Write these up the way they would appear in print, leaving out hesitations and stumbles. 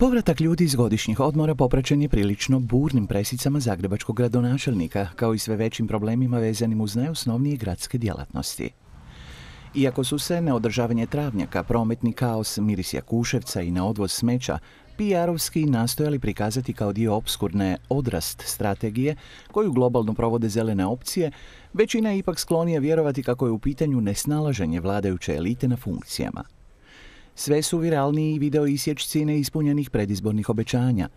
Povratak ljudi iz godišnjih odmora popraćen je prilično burnim presicama zagrebačkog gradonačelnika, kao i sve većim problemima vezanim uz najosnovnije gradske djelatnosti. Iako su se neodržavanje travnjaka, prometni kaos, miris Jakuševca i neodvoz smeća PR-ovski nastojali prikazati kao dio opskurne odrast strategije koju globalno provode zelene opcije, većina je ipak sklonija vjerovati kako je u pitanju nesnalaženje vladajuće elite na funkcijama. Sve su viralniji video isječci neispunjenih predizbornih obećanja.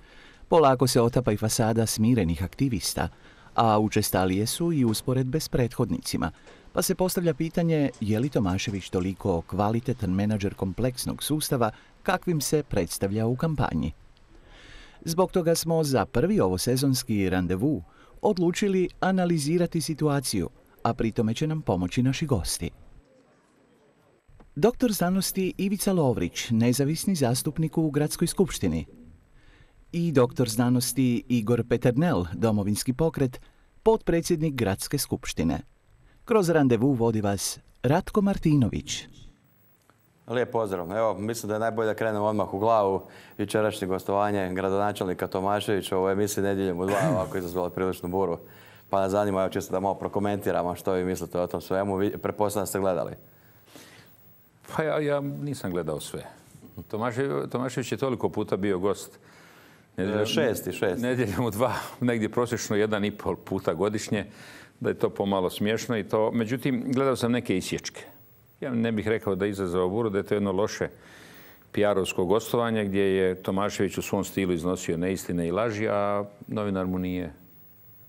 Polako se otapa i fasada smirenih aktivista, a učestalije su i usporedbe s prethodnicima, pa se postavlja pitanje je li Tomašević toliko kvalitetan menadžer kompleksnog sustava kakvim se predstavlja u kampanji. Zbog toga smo za prvi ovosezonski randevu odlučili analizirati situaciju, a pritome će nam pomoći naši gosti. Doktor znanosti Ivica Lovrić, nezavisni zastupnik u Gradskoj skupštini. I doktor znanosti Igor Peternel, Domovinski pokret, potpredsjednik Gradske skupštine. Kroz randevu vodi vas Ratko Martinović. Lijep pozdrav. Evo, mislim da je najbolje da krenemo odmah u glavu. Jučerašnje gostovanje gradonačelnika Tomaševića u emisiji Nedjeljom u 2 ovako izazvalo priličnu buru. Pa nas zanima, evo, čisto da malo prokomentiramo što vi mislite o tom svemu. Pretpostavljam da ste gledali. Pa ja nisam gledao sve. Tomašević je toliko puta bio gost. Šesti. Nedjeljom u 2, negdje prosječno 1,5 puta godišnje, da je to pomalo smiješno i to. Međutim, gledao sam neke isječke. Ja ne bih rekao da je izazvao buru, da je to jedno loše PR-ovsko gostovanje gdje je Tomašević u svom stilu iznosio neistine i laži, a novinar mu nije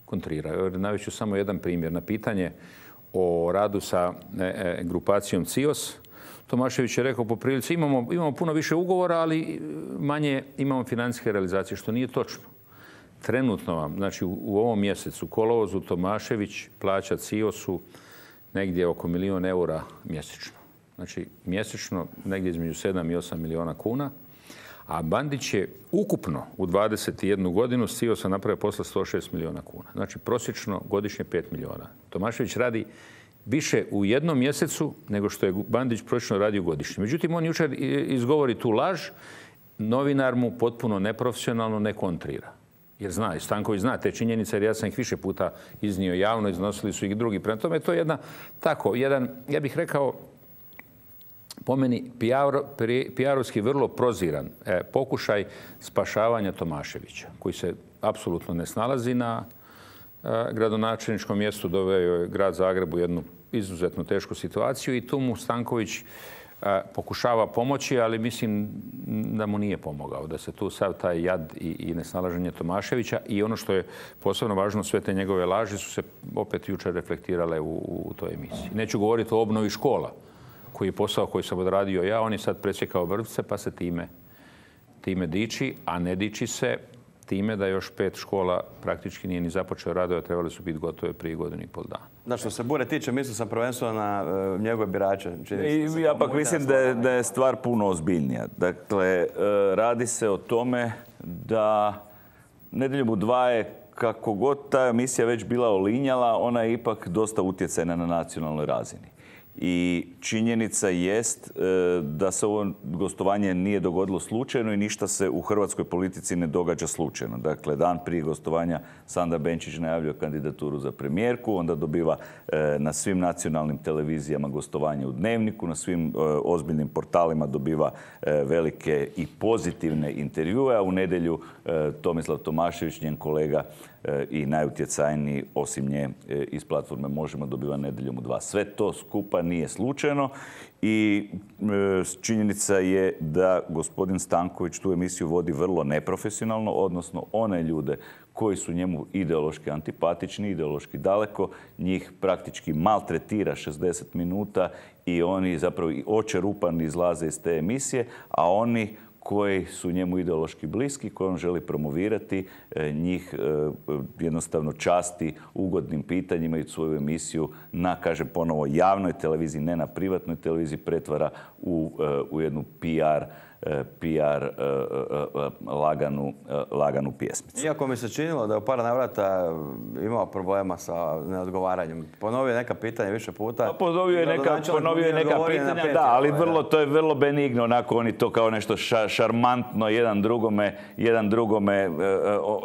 kontrirao. Navešću samo jedan primjer. Na pitanje o radu sa grupacijom CIOS, Tomašević je rekao po prilici imamo puno više ugovora, ali manje imamo financijske realizacije, što nije točno. Trenutno vam, znači u ovom mjesecu, kolovozu, Tomašević plaća CIOS-u negdje oko 1 milijun eura mjesečno. Znači mjesečno negdje između 7 i 8 milijuna kuna. A Bandić je ukupno u 21 godinu s CIOS-a napravio posla 106 milijuna kuna. Znači prosječno godišnje 5 milijuna. Tomašević radi više u jednom mjesecu nego što je Bandić prosječno radio godišnje. Međutim, on jučer izgovori tu laž, novinar mu potpuno neprofesionalno ne kontrira. Jer zna, i Stanković zna te činjenice, jer ja sam ih više puta iznio javno, iznosili su ih drugi. Prema tome, to je jedan, ja bih rekao, po meni PR-ovski vrlo proziran pokušaj spašavanja Tomaševića, koji se apsolutno ne snalazi na gradonačelničkom mjestu, doveo je grad Zagreb u jednu izuzetno tešku situaciju i tu mu Stanković pokušava pomoći, ali mislim da mu nije pomogao, da se tu sav taj jad i nesnalaženje Tomaševića i ono što je posebno važno, sve te njegove laži su se opet jučer reflektirale u toj emisiji. Neću govoriti o obnovi škola, koji je posao koji sam odradio ja, on je sad presjekao vrpce pa se time diči, a ne diči se time da još 5 škola praktički nije ni započeo radove, a trebali su biti gotove prije 1,5 dana. Da, što se bure tiče, mislio sam prvenstveno na njegove birače. I ja pak mislim da je stvar puno ozbiljnija. Dakle, radi se o tome da Nedjeljom u 2 je, kako god ta emisija već bila olinjala, ona je ipak dosta utjecajna na nacionalnoj razini. I činjenica jest da se ovo gostovanje nije dogodilo slučajno i ništa se u hrvatskoj politici ne događa slučajno. Dakle, dan prije gostovanja Sandra Benčić najavljuje kandidaturu za premijerku, onda dobiva na svim nacionalnim televizijama gostovanje u Dnevniku, na svim ozbiljnim portalima dobiva velike i pozitivne intervjue, a u nedjelju Tomislav Tomašević, njen kolega i najutjecajniji osim nje iz platforme Možemo, dobiva Nedjeljom u 2. Sve to skupa nije slučajno i činjenica je da gospodin Stanković tu emisiju vodi vrlo neprofesionalno, odnosno one ljude koji su njemu ideološki antipatični, ideološki daleko, njih praktički maltretira 60 minuta i oni zapravo očerupani izlaze iz te emisije, a oni koji su njemu ideološki bliski, koje on želi promovirati, njih jednostavno časti ugodnim pitanjima i svoju emisiju na, kažem ponovo, javnoj televiziji, ne na privatnoj televiziji, pretvara u jednu PR PR laganu pjesmicu. Iako mi se činilo da je u par navrata imao problema sa neodgovaranjem. Ponovio je neka pitanja više puta. Ponovio je neka pitanja, da, ali to je vrlo benigno, onako oni to kao nešto šarmantno jedan drugome.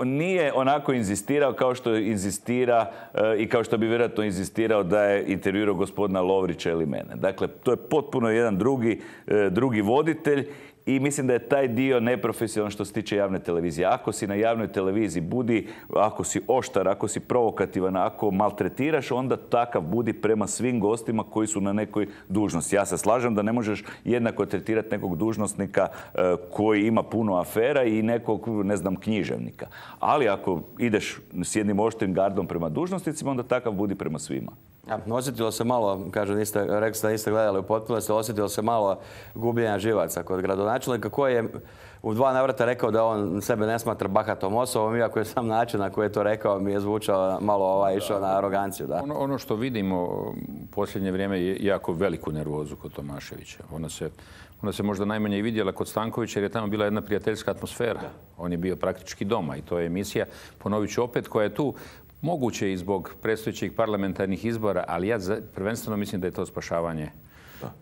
Nije onako inzistirao kao što inzistira i kao što bi vjerojatno inzistirao da je intervjuirao gospodina Lovrića ili mene. Dakle, to je potpuno jedan drugi voditelj. I mislim da je taj dio neprofesionalan što se tiče javne televizije. Ako si na javnoj televiziji budi, ako si oštar, ako si provokativan, ako maltretiraš, onda takav budi prema svim gostima koji su na nekoj dužnosti. Ja se slažem da ne možeš jednako tretirati nekog dužnosnika koji ima puno afera i nekog, ne znam, književnika. Ali ako ideš s jednim oštrim gardom prema dužnosnicima, onda takav budi prema svima. Ja, osjetilo se malo, kažu, rekli ste da niste gledali u potpunosti, osjetilo se malo gubljenja živaca kod gradonačelnika koji je u 2 navrata rekao da on sebe ne smatra bahatom osobom, iako je sam način na koji je to rekao mi je zvučao malo išao na aroganciju. Da. Ono što vidimo u posljednje vrijeme je jako veliku nervozu kod Tomaševića. Ona se možda najmanje i vidjela kod Stankovića jer je tamo bila jedna prijateljska atmosfera. On je bio praktički doma i to je emisija, ponovit ću opet, koja je tu moguće i zbog predstojećih parlamentarnih izbora, ali ja prvenstveno mislim da je to spašavanje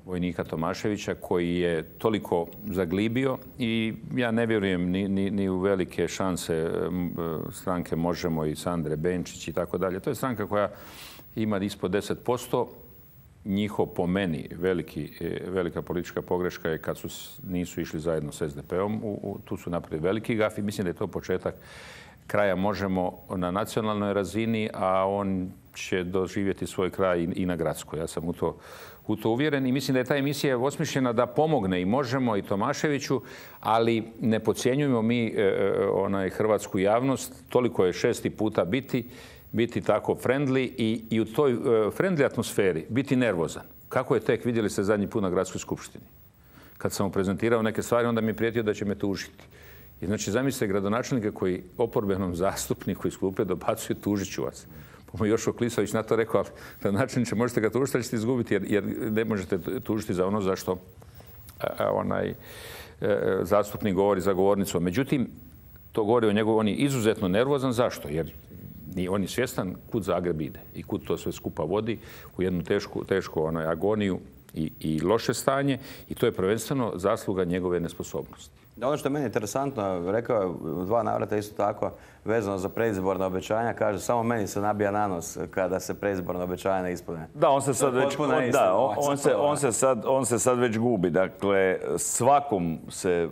vojnika Tomaševića koji je toliko zaglibio i ja ne vjerujem ni u velike šanse stranke Možemo i Sandre Benčić i tako dalje. To je stranka koja ima ispod 10%. Njihov, po meni, velika politička pogreška je kad nisu išli zajedno s SDP-om. Tu su napravili veliki gaf i mislim da je to početak kraja Možemo na nacionalnoj razini, a on će doživjeti svoj kraj i na gradskoj. Ja sam u to uvjeren i mislim da je ta emisija osmišljena da pomogne i Možemo i Tomaševiću, ali ne podcjenjujemo mi hrvatsku javnost. Toliko je 6. puta biti tako friendly i u toj friendly atmosferi biti nervozan. Kako je tek, vidjeli ste zadnji put na gradskoj skupštini. Kad sam mu prezentirao neke stvari, onda mi je prijetio da će me tužiti. I znači, zamislite gradonačelnika koji oporbenom zastupniku iz klupe dobacuje tužit ću vas. Pa mu Joško Klisović na to rekao, ali gradonačelniče možete ga tužiti, ali ćete izgubiti jer ne možete tužiti za ono zašto zastupnik govori za govornicom. Međutim, to govori o njegu, on je izuzetno nervozan. Zašto? Jer on je svjestan kud Zagreb ide i kud to sve skupa vodi u jednu tešku agoniju i loše stanje i to je prvenstveno zasluga njegove nesposobnosti. Ono što je meni interesantno, rekao je u 2 navrata isto tako vezano za predizborna obećanja, kaže samo meni se nabija na nos kada se predizborna obećanja ne ispune. Da, on se sad već gubi. Dakle, svakom se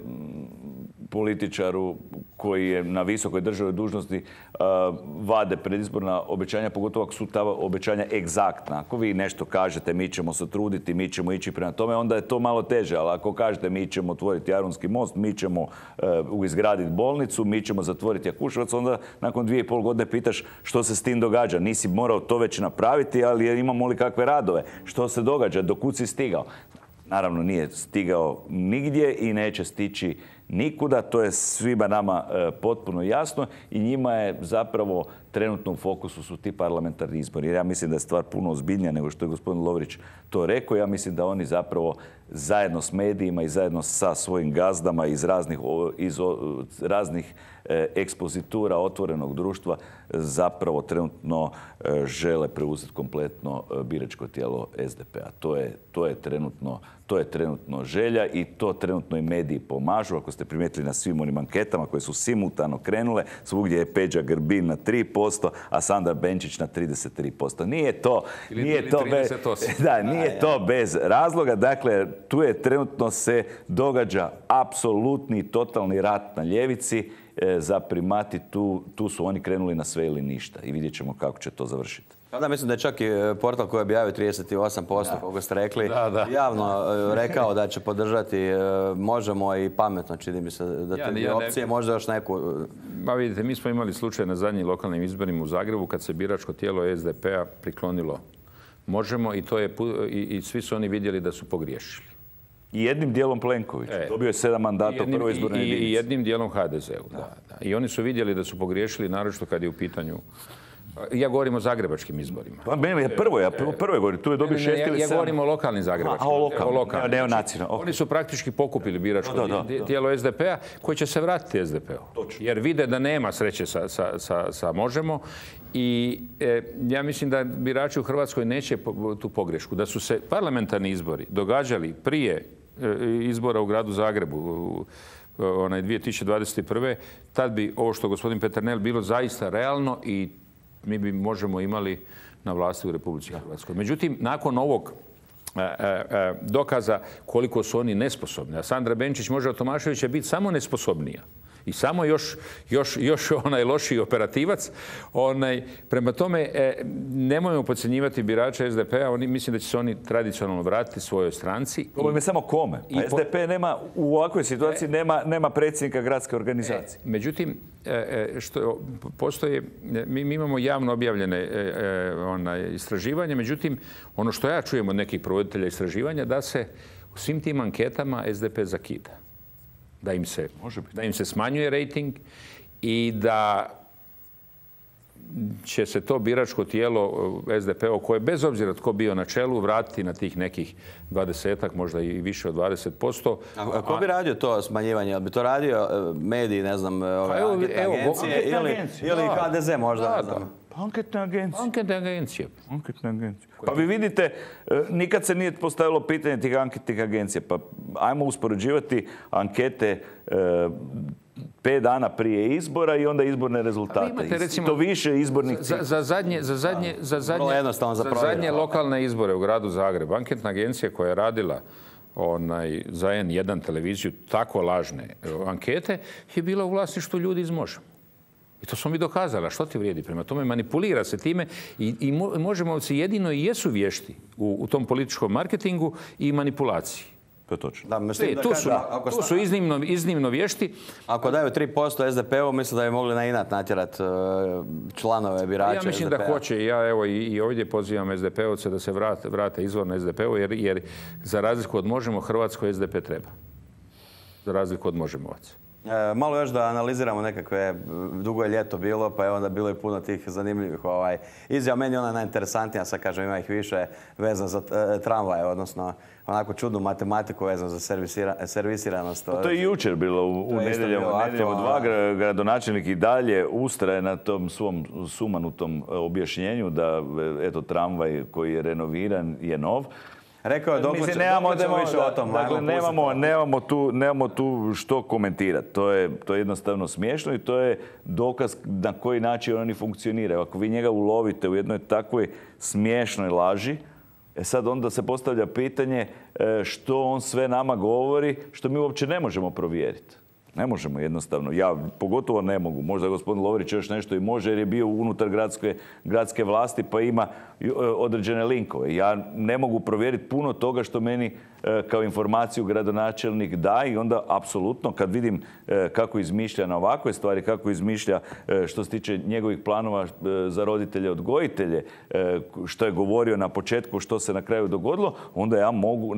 političaru koji je na visokoj državnoj dužnosti vade predizborna obećanja, pogotovo ako su ta obećanja egzaktna. Ako vi nešto kažete mi ćemo se truditi, mi ćemo ići prema tome, onda je to malo teže. Ali ako kažete mi ćemo otvoriti Jarunski most, mi ćemo izgraditi bolnicu, mi ćemo zatvoriti Jakuševac, onda nakon 2,5 godine pitaš što se s tim događa. Nisi morao to već napraviti, ali imamo li kakve radove? Što se događa? Do kud si stigao? Naravno nije stigao nigdje i neće stići nikuda, to je svima nama potpuno jasno i njima je zapravo trenutno u fokusu su ti parlamentarni izbori. Jer ja mislim da je stvar puno ozbiljnija nego što je gospodin Lovrić to rekao. Ja mislim da oni zapravo zajedno s medijima i zajedno sa svojim gazdama iz raznih ekspozitura otvorenog društva zapravo trenutno žele preuzeti kompletno biračko tijelo SDP-a. To je trenutno želja i to trenutno i mediji pomažu. Ako ste primijetili na svim onim anketama koje su simultano krenule, svugdje je Peđa Grbin na 3%, a Sandra Benčić na 33%. Nije to bez razloga. Dakle, tu je trenutno se događa apsolutni totalni rat na ljevici za primati. Tu su oni krenuli na sve ili ništa i vidjet ćemo kako će to završiti. Da, mislim da je čak i portal koji je objavio 38%, kako ste rekli, javno rekao da će podržati Možemo i Pametno, čini mi se da te opcije možda još neku... Ma vidite, mi smo imali slučaj na zadnjim lokalnim izborima u Zagrebu kad se biračko tijelo SDP-a priklonilo Možemo i svi su oni vidjeli da su pogriješili. I jednim dijelom Plenković. Dobio je 7 mandata u prvoj izbornoj jedinici. I jednim dijelom HDZ-u. Da. I oni su vidjeli da su pogriješili, naročito kad je u pitanju Ja govorim o zagrebačkim izborima. Pa meni je prvo govorim, tu je dobio 6 ili 7. Ja govorim o lokalnim zagrebačkim. O lokalnim, neonacionalnim. Oni su praktički pokupili biračko tijelo SDP-a koji će se vratiti SDP-u. Jer vide da nema sreće sa Možemo. I ja mislim da birači u Hrvatskoj neće tu pogrešku. Da su se parlamentarni izbori događali prije izbora u gradu Zagrebu, 2021. tad bi ovo što gospodin Peternel bilo zaista realno i mi bi Možemo imali na vlasti u Republici Hrvatskoj. Međutim, nakon ovog dokaza koliko su oni nesposobni, a Sandra Benčić može od Tomaševića biti samo nesposobnija i samo još lošiji operativac. Prema tome, nemojmo podcjenjivati birače SDP-a. Mislim da će se oni tradicionalno vratiti svojoj stranci. Problem je samo kome. Pa SDP nema, u ovakvoj situaciji nema predsjednika gradske organizacije. Međutim, što postoje, mi imamo javno objavljene istraživanja. Međutim, ono što ja čujem od nekih provoditelja istraživanja, da se u svim tim anketama SDP zakida. Da im se smanjuje rejting i da će se to biračko tijelo SDP-a koje bez obzira tko bio na čelu vratiti na tih nekih 20-ak, možda i više od 20%. A ko bi radio to smanjivanje? Jel bi to radio mediji, ne znam, anketne agencije ili HDZ možda? Anketne agencije. Anketne agencije. Pa vi vidite, nikad se nije postavilo pitanje tih anketnih agencija. Pa ajmo uspoređivati ankete 5 dana prije izbora i onda izborne rezultate. Imate, recimo, to više izbornih... Za zadnje lokalne izbore u gradu Zagrebu, anketna agencija koja je radila za N1 televiziju tako lažne ankete je bila u vlasništvu ljudi iz Možemo. I to smo mi dokazali. Što ti vrijedi? Prema tome manipulira se time i Možemovci jedino i jesu vješti u tom političkom marketingu i manipulaciji. To je točno. Tu su iznimno vješti. Ako daju 3% SDP-u, mislim da bi mogli na inat natjerati članove birača SDP-a. Ja mislim da hoće. Ja evo i ovdje pozivam SDP-ovce da se vrate izvorno SDP-u, jer za razliku od Možemo, Hrvatskoj SDP treba. Za razliku od Možemovaca. Malo još da analiziramo nekakve, dugo je ljeto bilo, pa je onda bilo i puno tih zanimljivih izjava. Meni je ona najinteresantnija, sad kažem ima ih više, vezan za tramvaje, odnosno onako čudnu matematiku vezan za servisiranost. To je jučer bilo u nedjelju 2, gradonačelnik i dalje ustraje na tom svom sumanutom objašnjenju da eto tramvaj koji je renoviran je nov. Rekao je dok ćemo više o tom. Dakle, nemamo tu što komentirati. To je jednostavno smiješno i to je dokaz na koji način oni funkcioniraju. Ako vi njega ulovite u jednoj takvoj smiješnoj laži, sad onda se postavlja pitanje što on sve nama govori, što mi uopće ne možemo provjeriti. Ne možemo jednostavno. Ja pogotovo ne mogu. Možda gospodin Lovrić još nešto i može jer je bio unutar gradske vlasti pa ima određene linkove. Ja ne mogu provjeriti puno toga što meni kao informaciju gradonačelnik da i onda apsolutno kad vidim kako izmišlja na ovakve stvari, kako izmišlja što se tiče njegovih planova za roditelje odgojitelje, što je govorio na početku, što se na kraju dogodilo, onda ja mogu,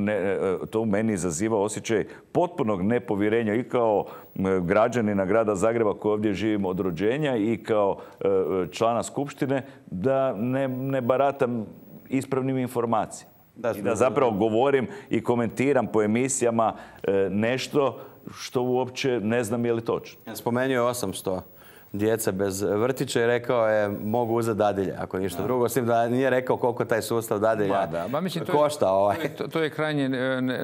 to u meni izaziva osjećaj potpunog nepovjerenja i kao građanina grada Zagreba koji ovdje živim od rođenja i kao člana skupštine da ne baratam ispravnim informacijama. I da zapravo govorim i komentiram po emisijama nešto što uopće ne znam je li točno. Spomenuo je 800 djece bez vrtića i rekao je mogu uzeti dadilje, ako ništa drugo. S tim da nije rekao koliko taj sustav dadilja košta. To je krajnje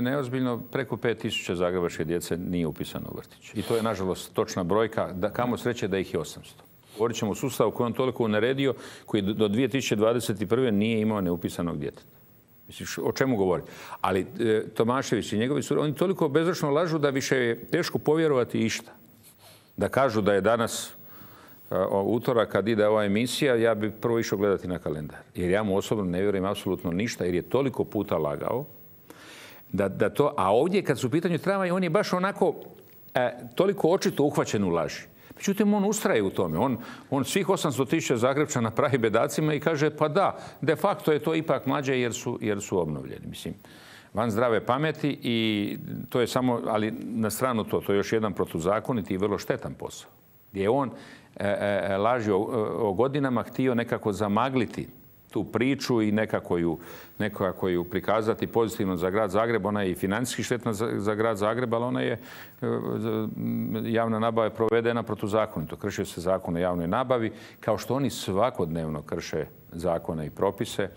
neozbiljno. Preko 5000 zagrebačke djece nije upisano u vrtić. I to je, nažalost, točna brojka. Kamo sreće da ih je 800. Govorit ćemo o sustavu koji on toliko uneredio, koji do 2021. nije imao neupisanog djeteta. Misliš, o čemu govori? Ali Tomašević i njegovi su, oni toliko bezračno lažu da više je teško povjerovati išta. Da kažu da je danas utorak kad ide ova emisija, ja bi prvo išao gledati na kalendar. Jer ja mu osobno ne vjerujem apsolutno ništa, jer je toliko puta lagao. A ovdje kad su u pitanju tramvaj, on je baš onako toliko očito uhvaćen u laži. Međutim, on ustraje u tome. On svih 800.000 Zagrebčana pravi bedacima i kaže pa da, de facto je to ipak mlađe jer su obnovljeni. Mislim, van zdrave pameti i to je samo, ali na stranu to je još jedan protuzakoniti i vrlo štetan posao. gdje je on lažio o godinama, htio nekako zamagliti tu priču i nekako ju prikazati pozitivno za grad Zagreb. Ona je i financijski štetna za grad Zagreb, ali ona je, javna nabava je provedena protuzakonito. Kršio se zakon o javnoj nabavi, kao što oni svakodnevno krše zakone i propise.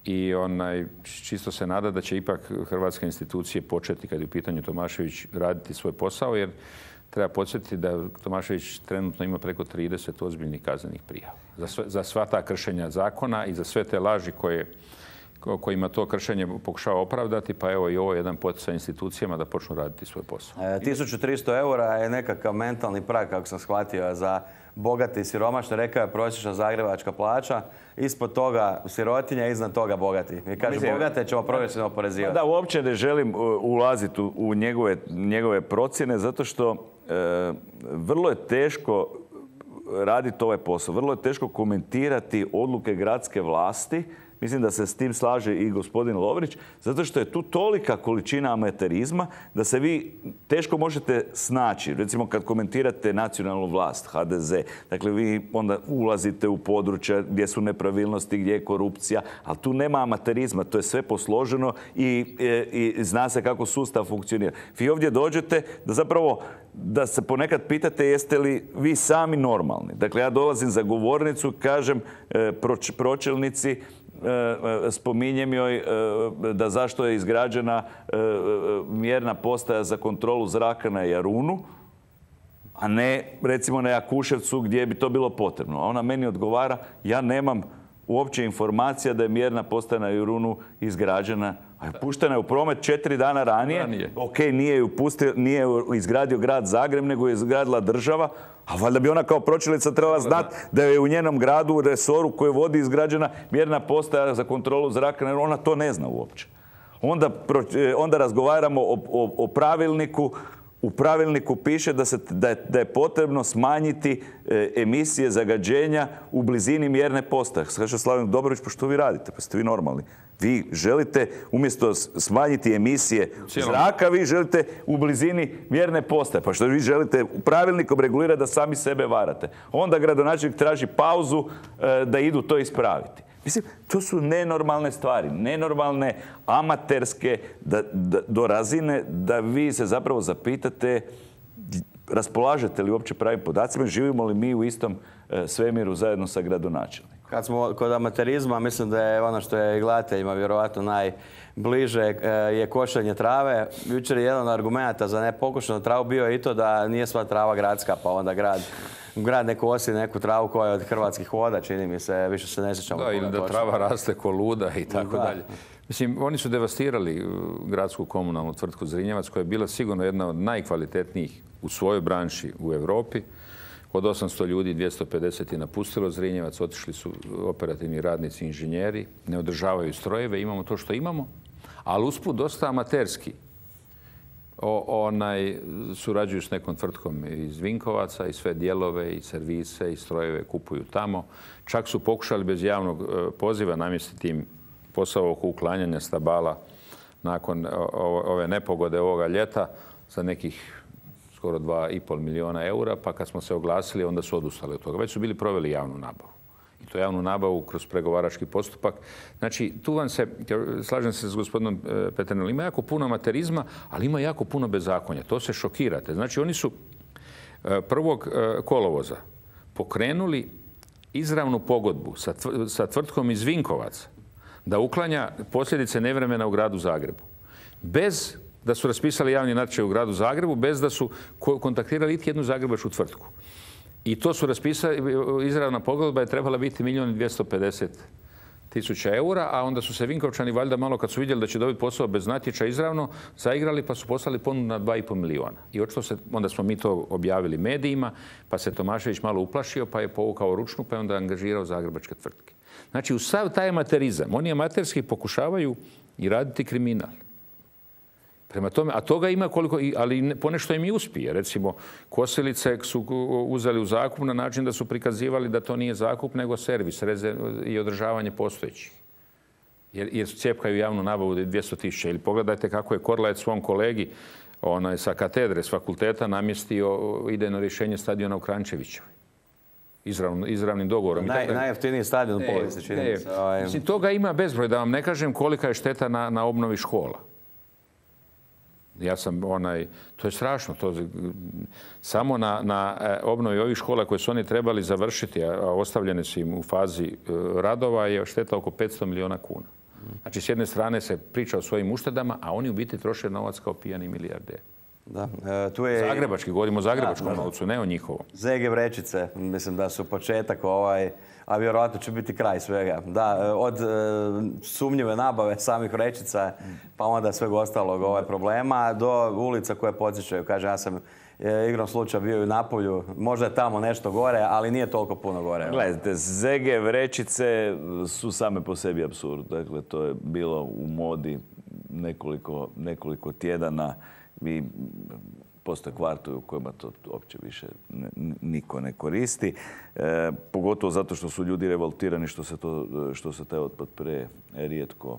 I čisto se nada da će ipak hrvatske institucije početi, kad je u pitanju Tomašević, raditi svoj posao, jer treba podsjetiti da Tomašević trenutno ima preko 30 ozbiljnih kaznenih prijava. Za sva ta kršenja zakona i za sve te laži kojima to kršenje pokušava opravdati, pa evo i ovo je jedan poticaj institucijama da počnu raditi svoj posao. 1300 eura je nekakav mentalni prag, kako sam shvatio, za bogati i siromašne. Rekao je prosječna zagrebačka plaća. Ispod toga sirotinja, iznad toga bogati. Mi kaže, bogate ćemo progresivno oporezivati. Da, uopće ne želim ulaziti u njegove procjene, zato što vrlo je teško raditi ovaj posao. Vrlo je teško komentirati odluke gradske vlasti. Mislim da se s tim slaže i gospodin Lovrić, zato što je tu tolika količina amaterizma da se vi teško možete snaći. Recimo kad komentirate nacionalnu vlast, HDZ, dakle vi onda ulazite u područja gdje su nepravilnosti, gdje je korupcija, ali tu nema amaterizma, to je sve posloženo i zna se kako sustav funkcionira. Vi ovdje dođete da se ponekad pitate jeste li vi sami normalni. Dakle, ja dolazim za govornicu, kažem pročelnici, spominjem joj da zašto je izgrađena mjerna postaja za kontrolu zraka na Jarunu, a ne recimo na Jakuševcu gdje bi to bilo potrebno. A ona meni odgovara, ja nemam uopće informacija da je mjerna postaja na Jarunu izgrađena, a puštena je u promet 4 dana ranije. Ok, nije ju izgradio grad Zagreb, nego je izgradila država. A valjda bi ona kao pročelnica trebala znati da je u njenom gradu, u resoru koji vodi, izgrađena mjerna postaja za kontrolu zraka. Ona to ne zna uopće. Onda razgovaramo o pravilniku. U pravilniku piše da je potrebno smanjiti emisije zagađenja u blizini mjerne postaje. Kaže Slaven Dobrović, pa što vi radite? Pa ste vi normalni. Vi želite umjesto smanjiti emisije zraka, vi želite u blizini mjerne postaje. Pa što vi želite pravilnikom regulirati da sami sebe varate. Onda gradonačelnik traži pauzu da idu to ispraviti. Mislim, to su nenormalne stvari, nenormalne, amaterske, do razine da vi se zapravo zapitate raspolažete li uopće pravim podacima, živimo li mi u istom svemiru zajedno sa gradonačelnikom. Kad smo kod amaterizma, mislim da je ono što je gledateljima vjerovatno najbliže je košenje trave. Jučer je jedan od argumenta za nepokošenu travu bio i to da nije sva trava gradska, pa onda grad ne kosi neku travu koja je od Hrvatskih voda, čini mi se, više se ne sjećamo. Da, ili da trava raste ko luda i tako dalje. Mislim, oni su devastirali gradsku komunalnu tvrtku Zrinjevac, koja je bila sigurno jedna od najkvalitetnijih u svojoj branši u Europi. Od 800 ljudi 250 je napustilo Zrinjevac, otišli su operativni radnici, inženjeri, ne održavaju strojeve, imamo to što imamo, ali usput dosta amaterski. Surađuju s nekom tvrtkom iz Vinkovaca i sve dijelove i servise i strojeve kupuju tamo. Čak su pokušali bez javnog poziva namjestiti im posao oko uklanjanja stabala nakon ove nepogode ovoga ljeta za nekih skoro 2,5 milijuna eura, pa kad smo se oglasili, onda su odustali od toga. Već su bili proveli javnu nabavu. I to javnu nabavu kroz pregovarački postupak. Znači, tu vam se, slažem se s gospodinom Peternelom, ima jako puno amaterizma, ali ima jako puno bezakonja. To se šokirate. Znači, oni su 1. kolovoza pokrenuli izravnu pogodbu sa tvrtkom iz Vinkovaca da uklanja posljedice nevremena u gradu Zagrebu. Bez da su raspisali javni natječaj u gradu Zagrebu, bez da su kontaktirali iti jednu zagrebačku tvrtku. I to su raspisali, izravna pogodba je trebala biti 1.250.000 eura, a onda su se Vinkovčani valjda malo kad su vidjeli da će dobiti posao bez natječaja izravno, zaigrali pa su poslali ponudu na 2,5 milijuna. I onda smo mi to objavili medijima, pa se Tomašević malo uplašio, pa je povukao ručnu, pa je onda angažirao zagrebačke tvrtke. Znači, u sav taj amaterizam, oni amaterski pokušavaju i raditi kriminal. Prema tome, a toga ima koliko, ali ponešto im i uspije. Recimo, kosilice su uzeli u zakup na način da su prikazivali da to nije zakup, nego servis i održavanje postojećih. Jer cijepkaju javnu nabavu 200.000. Ili pogledajte kako je Korlajet svom kolegi sa katedre, s fakulteta namjestio idejno rješenje stadiona u Kranjčevićevoj. Izravnim dogovorom. Najjeftiniji stadion u povijesti, čini mi se. Mislim, toga ima bezbroj, da vam ne kažem kolika je šteta na obnovi škola. To je strašno. Samo na obnovi ovih škola koje su oni trebali završiti, a ostavljene su im u fazi radova, je šteta oko 500 milijuna kuna. Znači, s jedne strane se priča o svojim uštedama, a oni u biti troše novac kao pijani milijarderi. Da. Zagrebački, govorimo o zagrebačkom novcu, ne o njihovom. ZG vrećice, mislim da su početak a vjerojatno će biti kraj svega. Da, od sumnjive nabave samih vrećica, pa onda sveg ostalog problema, do ulica koje podsjećaju. Kažem, ja sam igrom slučaja bio i u Napolju, možda je tamo nešto gore, ali nije toliko puno gore. Gledajte, ZG vrećice su same po sebi apsurd. Dakle, to je bilo u modi nekoliko tjedana. Postoje kvartovi u kojima to uopće više niko ne koristi. Pogotovo zato što su ljudi revoltirani što se taj otpad prerijetko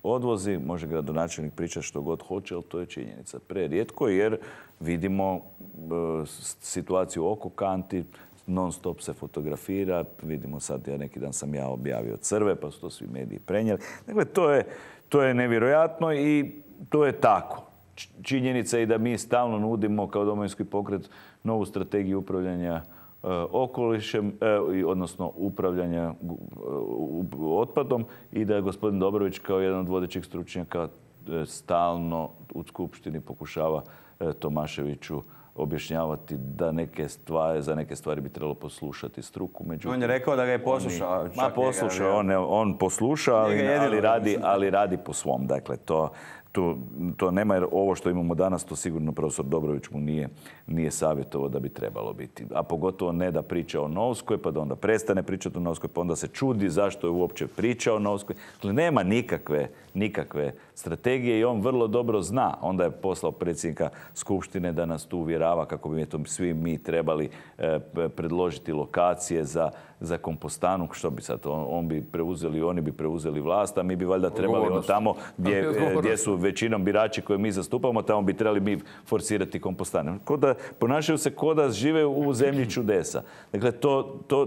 odvozi. Može gradonačelnik pričati što god hoće, ali to je činjenica. Prerijetko jer vidimo situaciju oko kanti, non stop se fotografira. Vidimo sad, neki dan sam ja objavio crve, pa su to svi mediji prenijeli. Dakle, to je nevjerojatno i to je tako. Činjenica je i da mi stalno nudimo kao Domovinski pokret novu strategiju upravljanja okolišem, odnosno upravljanja otpadom i da je gospodin Dobrović kao jedan od vodećih stručnjaka stalno u Skupštini pokušava Tomaševiću objašnjavati da za neke stvari bi trebalo poslušati struku. Međutim, on je rekao da ga je poslušao. On posluša, ali radi po svom. Dakle, to nema, jer ovo što imamo danas, to sigurno profesor Dobrović mu nije savjetovao da bi trebalo biti. A pogotovo ne da priča o Novskoj, pa da onda prestane pričati o Novskoj, pa onda se čudi zašto je uopće pričao o Novskoj. Dakle, nema nikakve strategije i on vrlo dobro zna. Onda je poslao predsjednika Skupštine da nas tu uvjerava kako bi svi mi trebali predložiti lokacije za kompostanu. Što bi sad? Oni bi preuzeli vlast, a mi bi valjda trebali tamo gdje su većinom birači koje mi zastupamo, tamo bi trebali mi forsirati kompostane. Ponašaju se kao da žive u zemlji čudesa. Dakle,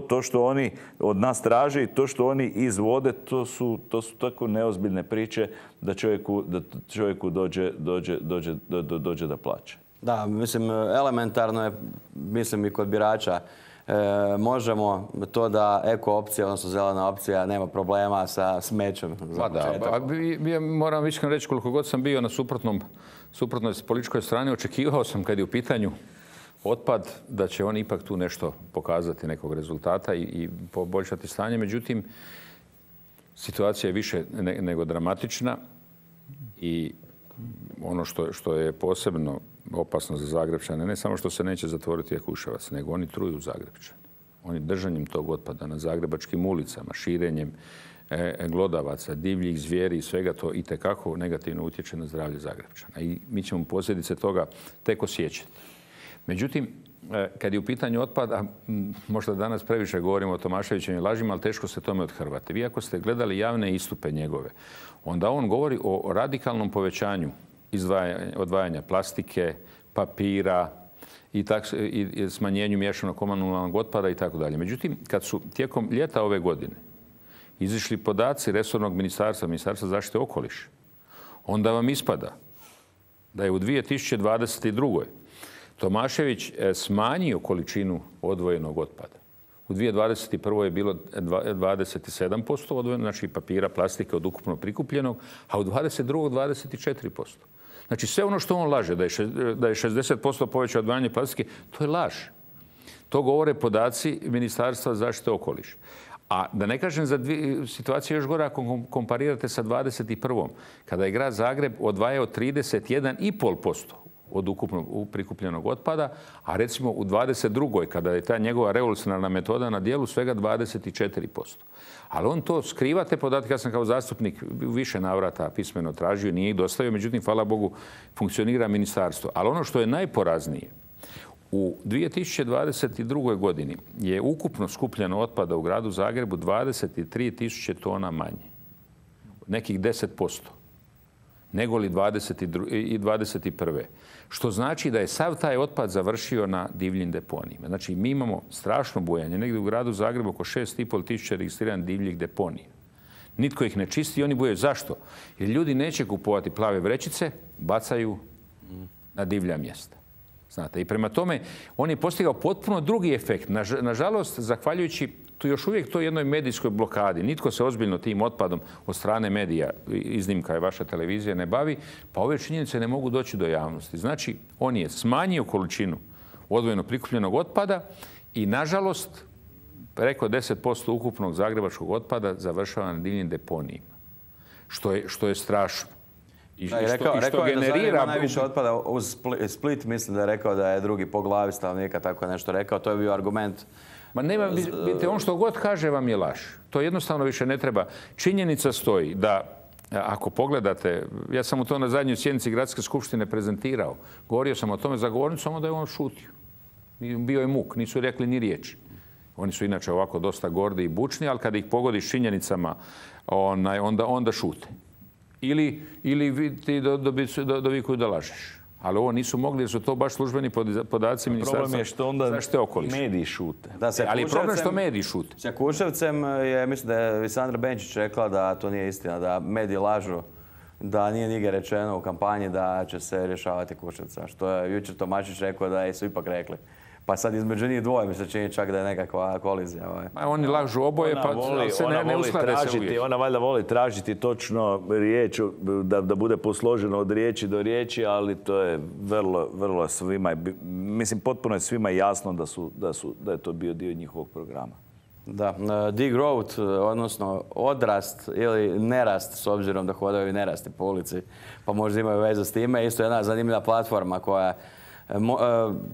to što oni od nas traže i to što oni izvode, to su tako neozbiljne priče da čovjeku dođe da plaće. Da, mislim, elementarno je, mislim i kod birača, možemo to da eko opcija, odnosno zelena opcija, nema problema sa smećem. Ja moram iskreno reći, koliko god sam bio na suprotnoj političkoj strani, očekivao sam kad je u pitanju otpad da će on ipak tu nešto pokazati, nekog rezultata i poboljšati stanje. Međutim, situacija je više nego dramatična i ono što je posebno opasno za Zagrepčane, ne samo što se neće zatvoriti Jakuševac, nego oni truju Zagrepčane. Oni držanjem tog otpada na zagrebačkim ulicama, širenjem glodavaca, divljih zvijeri i svega to itekako negativno utječe na zdravlje Zagrepčana. I mi ćemo posljedice toga tek osjećati. Međutim, kad je u pitanju otpada, možda danas previše govorimo o Tomaševićevim lažima, ali teško se tome othrvati. Vi ako ste gledali javne istupe njegove, onda on govori o radikalnom povećanju odvajanja plastike, papira i smanjenju miješanog komunalnog otpada i tako dalje. Međutim, kad su tijekom ljeta ove godine izišli podaci resornog Ministarstva zaštite okoliša, onda vam ispada da je u 2022. Tomašević smanjio količinu odvojenog otpada. U 2021. je bilo 27% odvojeno, znači papira, plastike od ukupno prikupljenog, a u 2022. 24%. Znači sve ono što on laže, da je 60% povećao odvajanje plastike, to je laž. To govore podaci Ministarstva zaštite okoliša. A da ne kažem za situacija još gora ako komparirate sa 21. kada je grad Zagreb odvajao 31,5% od ukupno prikupljenog otpada, a recimo u 22. kada je ta njegova revolucionarna metoda na dijelu svega 24%. Ali on to skriva, te podatke, ja sam kao zastupnik u više navrata pismeno tražio, nije ih dostavio, međutim, hvala Bogu, funkcionira ministarstvo. Ali ono što je najporaznije, u 2022. godini je ukupno skupljeno otpada u gradu Zagrebu 23.000 tona manje. Nekih 10%. nego li 21. Što znači da je sav taj otpad završio na divljim deponijima. Znači, mi imamo strašno bujanje. Negdje u gradu Zagrebu oko 6,5 tisuća registriranih divljih deponija. Nitko ih ne čisti i oni bujaju. Zašto? Jer ljudi neće kupovati plave vrećice, bacaju na divlja mjesta. Znate, i prema tome on je postigao potpuno drugi efekt. Nažalost, zahvaljujući tu još uvijek toj jednoj medijskoj blokadi, nitko se ozbiljno tim otpadom od strane medija, iznimka je vaša televizija, ne bavi, pa ove činjenice ne mogu doći do javnosti. Znači, on je smanjio količinu odvojeno prikupljenog otpada i, nažalost, preko 10% ukupnog zagrebačkog otpada završava na divljim deponijima, što je strašno. Rekao je da Zagreb ima najviše otpada uz Split, mislim da je rekao da je drugi po glavi stanovnika, tako je nešto rekao. To je bio argument. Ma nema, vidite, on što god kaže vam je laž. To jednostavno više ne treba. Činjenica stoji da, ako pogledate, ja sam u to na zadnjoj sjednici Gradske skupštine prezentirao, govorio sam o tome za govornicom, onda je on šutio. Bio je muk, nisu rekli ni riječi. Oni su inače ovako dosta gordi i bučni, ali kada ih pogodiš činjenicama, onda šute. Ili ti dovikuju da lažeš. Ali ovo nisu mogli jer su to baš službeni podaci Ministarstva zaštite okoliša. Problem je što onda mediji šute. Ali problem je što mediji šute. Sa Kuševcem je, mislim da je Sandra Benčić rekla da to nije istina, da mediji lažu, da nije nigdje rečeno u kampanji da će se rješavati Kuševca. Što je jučer Tomašić rekao da su ipak rekli. Pa sad između njih dvoje mi se čini čak da je nekakva kolizija. Oni lažu oboje, pa se ne usklade se uvijek. Ona valjda voli tražiti točno riječ, da bude posloženo od riječi do riječi, ali to je vrlo svima, mislim, potpuno je svima jasno da je to bio dio njihovog programa. Da, degrowth, odnosno odrast ili nerast, s obzirom da hodaju i nerasti po ulici, pa možda imaju veze s time. Isto jedna zanimljiva platforma koja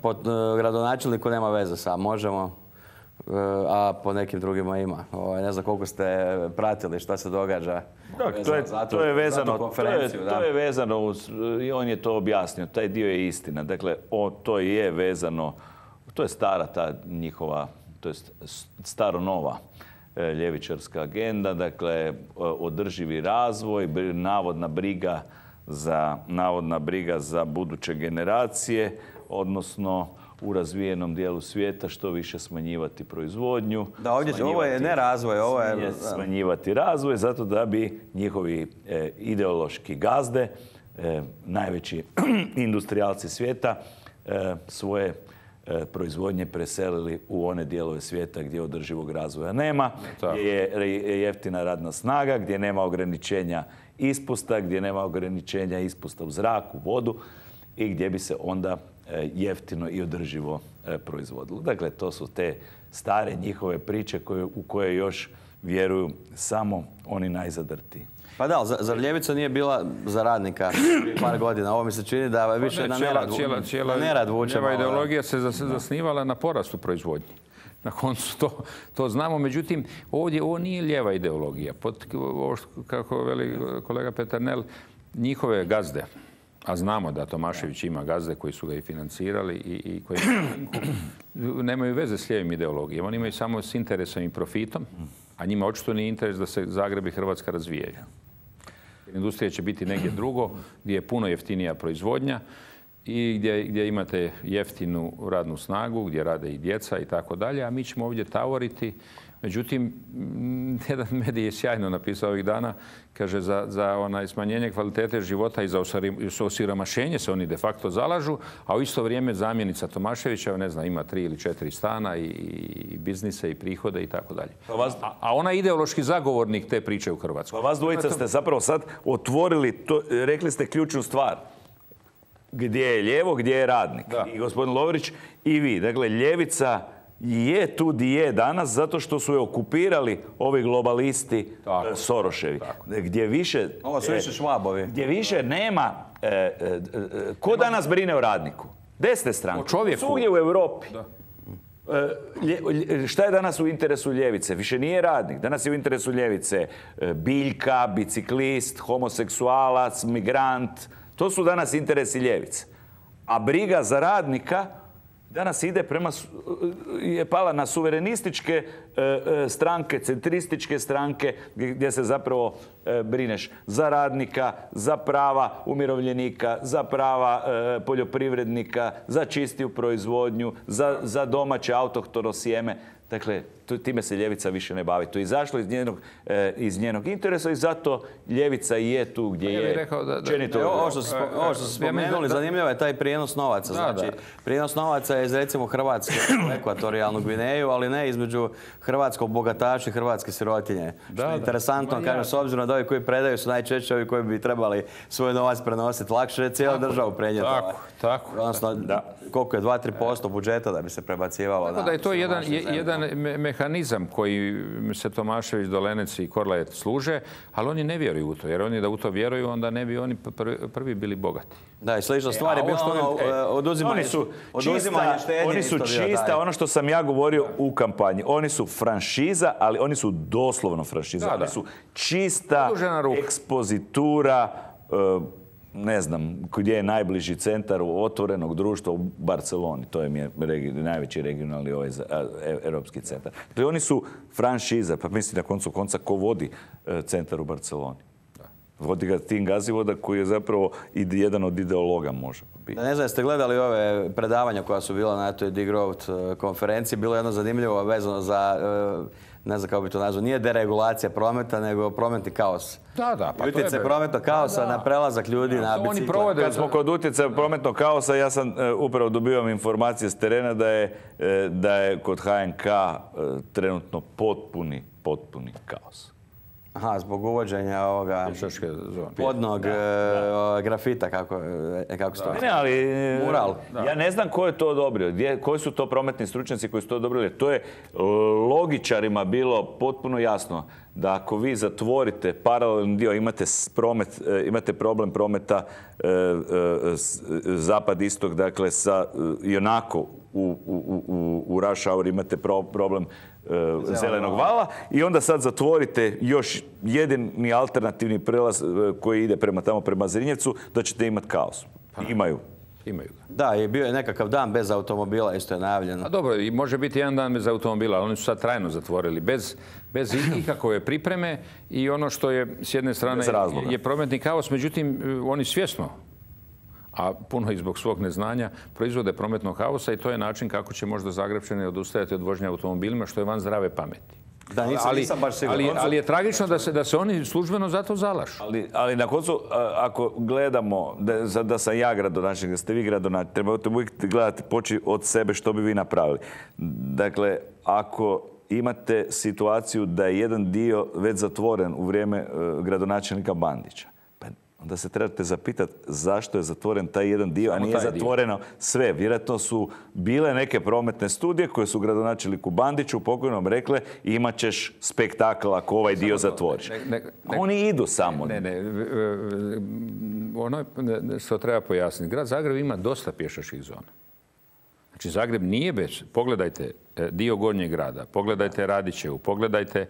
po gradonačelniku nema veze sa Možemo, a po nekim drugima ima. Ne znam koliko ste pratili šta se događa. To je vezano uz, i on je to objasnio, taj dio je istina. Dakle, to je vezano, to je stara ta njihova, to je staro-nova ljevičarska agenda, dakle, održivi razvoj, navodna briga za buduće generacije, odnosno u razvijenom dijelu svijeta što više smanjivati proizvodnju. Da, ovo je ne razvoj, ovo je smanjivati razvoj, zato da bi njihovi ideološki gazde, najveći industrijalci svijeta, svoje proizvodnje preselili u one dijelove svijeta gdje održivog razvoja nema, gdje je jeftina radna snaga, gdje nema ograničenja ispusta, gdje nema ograničenja ispusta u zraku, vodu i gdje bi se onda jeftino i održivo proizvodilo. Dakle, to su te stare njihove priče u koje još vjeruju samo oni najzadrtiji. Pa da, zar ljevica nije bila za radnika prije par godina? Ovo mi se čini da više na nerad vučemo. Cijela ideologija se zasnivala na porastu proizvodnje. Na koncu to znamo. Međutim, ovdje ovo nije lijeva ideologija. Kako veli kolega Peternel, njihove gazde, a znamo da Tomašević ima gazde koji su ga i financirali i koji nemaju veze s lijevim ideologijom. Oni imaju samo s interesom i profitom, a njima očito nije interes da se Zagreb i Hrvatska razvijaju. Industrija će biti negdje drugo, gdje je puno jeftinija proizvodnja i gdje imate jeftinu radnu snagu, gdje rade i djeca i tako dalje, a mi ćemo ovdje tavoriti. Međutim, jedan medij je sjajno napisao ovih dana, kaže za smanjenje kvalitete života i za osiromašenje se oni de facto zalažu, a u isto vrijeme zamjenica Tomaševića, ne znam, ima 3 ili 4 stana i biznise i prihode i tako dalje. A ona je ideološki zagovornik te priče u Hrvatskoj. Pa vas dvojica ste zapravo sad otvorili, rekli ste ključnu stvar. Gdje je lijevo, gdje je radnik. I gospodin Lovrić i vi. Dakle, ljevica je tu di je danas zato što su je okupirali ovi globalisti Soroševi. Gdje više... Ovo su više Švabovi. Gdje više nema... Ko danas brine o radniku? Desne stranke. O čovjeku. Svugdje u Europi. Šta je danas u interesu ljevice? Više nije radnik. Danas je u interesu ljevice biljka, biciklist, homoseksualac, migrant. To su danas interesi ljevice. A briga za radnika danas je pala na suverenističke stranke, centrističke stranke, gdje se zapravo brineš za radnika, za prava umirovljenika, za prava poljoprivrednika, za čistiju proizvodnju, za domaće autohtono sjeme. Dakle, time se ljevica više ne bavi. To je izašlo iz njenog interesa i zato ljevica i je tu gdje je. Ovo što ste spomenuli, zanimljivo je taj prijenos novaca. Znači, prijenos novaca je iz recimo Hrvatske u ekvatorijalnu Gvineju, ali ne između hrvatskog bogataša i hrvatske sirotinje. Što je interesantno, kažem, s obzirom da ovi koji predaju su najčešće ovi koji bi trebali svoj novac prenositi. Lakše je cijelu državu prenijeti. Tako. Odnosno, koliko je 2-3% budžeta da bi se prebacivalo. Tako da je to jedan mehanizam koji se Tomašević, Dolenec i Korlajet služe, ali oni ne vjeruju u to. Jer oni da u to vjeruju, onda ne bi oni prvi bili bogati. Da, i slična stvar je bilo oduzimanje štednje. Oni su čista, ono što sam ja govorio u kampanji. Oni su franšiza, ali oni su doslovno franšiza. Oni su čista ekspozitura, ne znam gdje je najbliži centar otvorenog društva u Barceloni. To je najveći regionalni europski centar. Dakle, oni su franšiza, pa mislim na koncu konca ko vodi centar u Barceloni. Vodi ga Tim Gazivoda koji je zapravo jedan od ideologa može biti. Ne znam, jeste gledali ove predavanja koja su bila na toj Degrowth konferenciji. Bilo je jedno zanimljivo vezano za, ne znam kako bi to nazvao, nije deregulacija prometa, nego prometni kaos. Pa utjecaj prometnog kaosa na prelazak ljudi na bicikla. Kad smo kod utjecaja prometnog kaosa, ja sam upravo dobivam informacije s terena da je kod HNK trenutno potpuni kaos. Aha, zbog uvođenja ovoga podnog grafita, kako se to... Ne, ali mural. Ja ne znam ko je to odobrio, koji su to prometni stručnjaci koji su to odobrili. To je logičarima bilo potpuno jasno da ako vi zatvorite paralelni dio, imate problem prometa zapad-istok, dakle sa ionako u rush hour imate problem zelenog vala i onda sad zatvorite još jedini alternativni prelaz koji ide prema Zrinjevcu, da ćete imati kaos. Imaju ga. Da, i bio je nekakav dan bez automobila, isto je najavljeno. A dobro, i može biti jedan dan bez automobila, ali oni su sad trajno zatvorili, bez ikakove pripreme i ono što je s jedne strane je prometni kaos, međutim oni svjesno, a puno i zbog svog neznanja, proizvode prometnog kaosa i to je način kako će možda Zagrepčani odustajati od vožnje automobilima, što je van zdrave pameti. Da, nisam baš siguran. Ali je tragično da se oni službeno za to zalažu. Ali na koncu, ako gledamo, da sam ja gradonačelnik, da ste vi gradonačelnik, trebate uvijek gledati, poći od sebe što bi vi napravili. Dakle, ako imate situaciju da je jedan dio već zatvoren u vrijeme gradonačelnika Bandića, onda se trebate zapitati zašto je zatvoren taj jedan dio, a nije zatvoreno sve. Vjerojatno su bile neke prometne studije koje su gradonačelniku Bandiću pokojnom rekle imat ćeš spektakl ako ovaj dio zatvoriš. Oni idu samo. Ono što treba pojasniti. Grad Zagreb ima dosta pješačkih zona. Znači Zagreb nije bez... Pogledajte dio Gornjeg grada, pogledajte Radićevu, pogledajte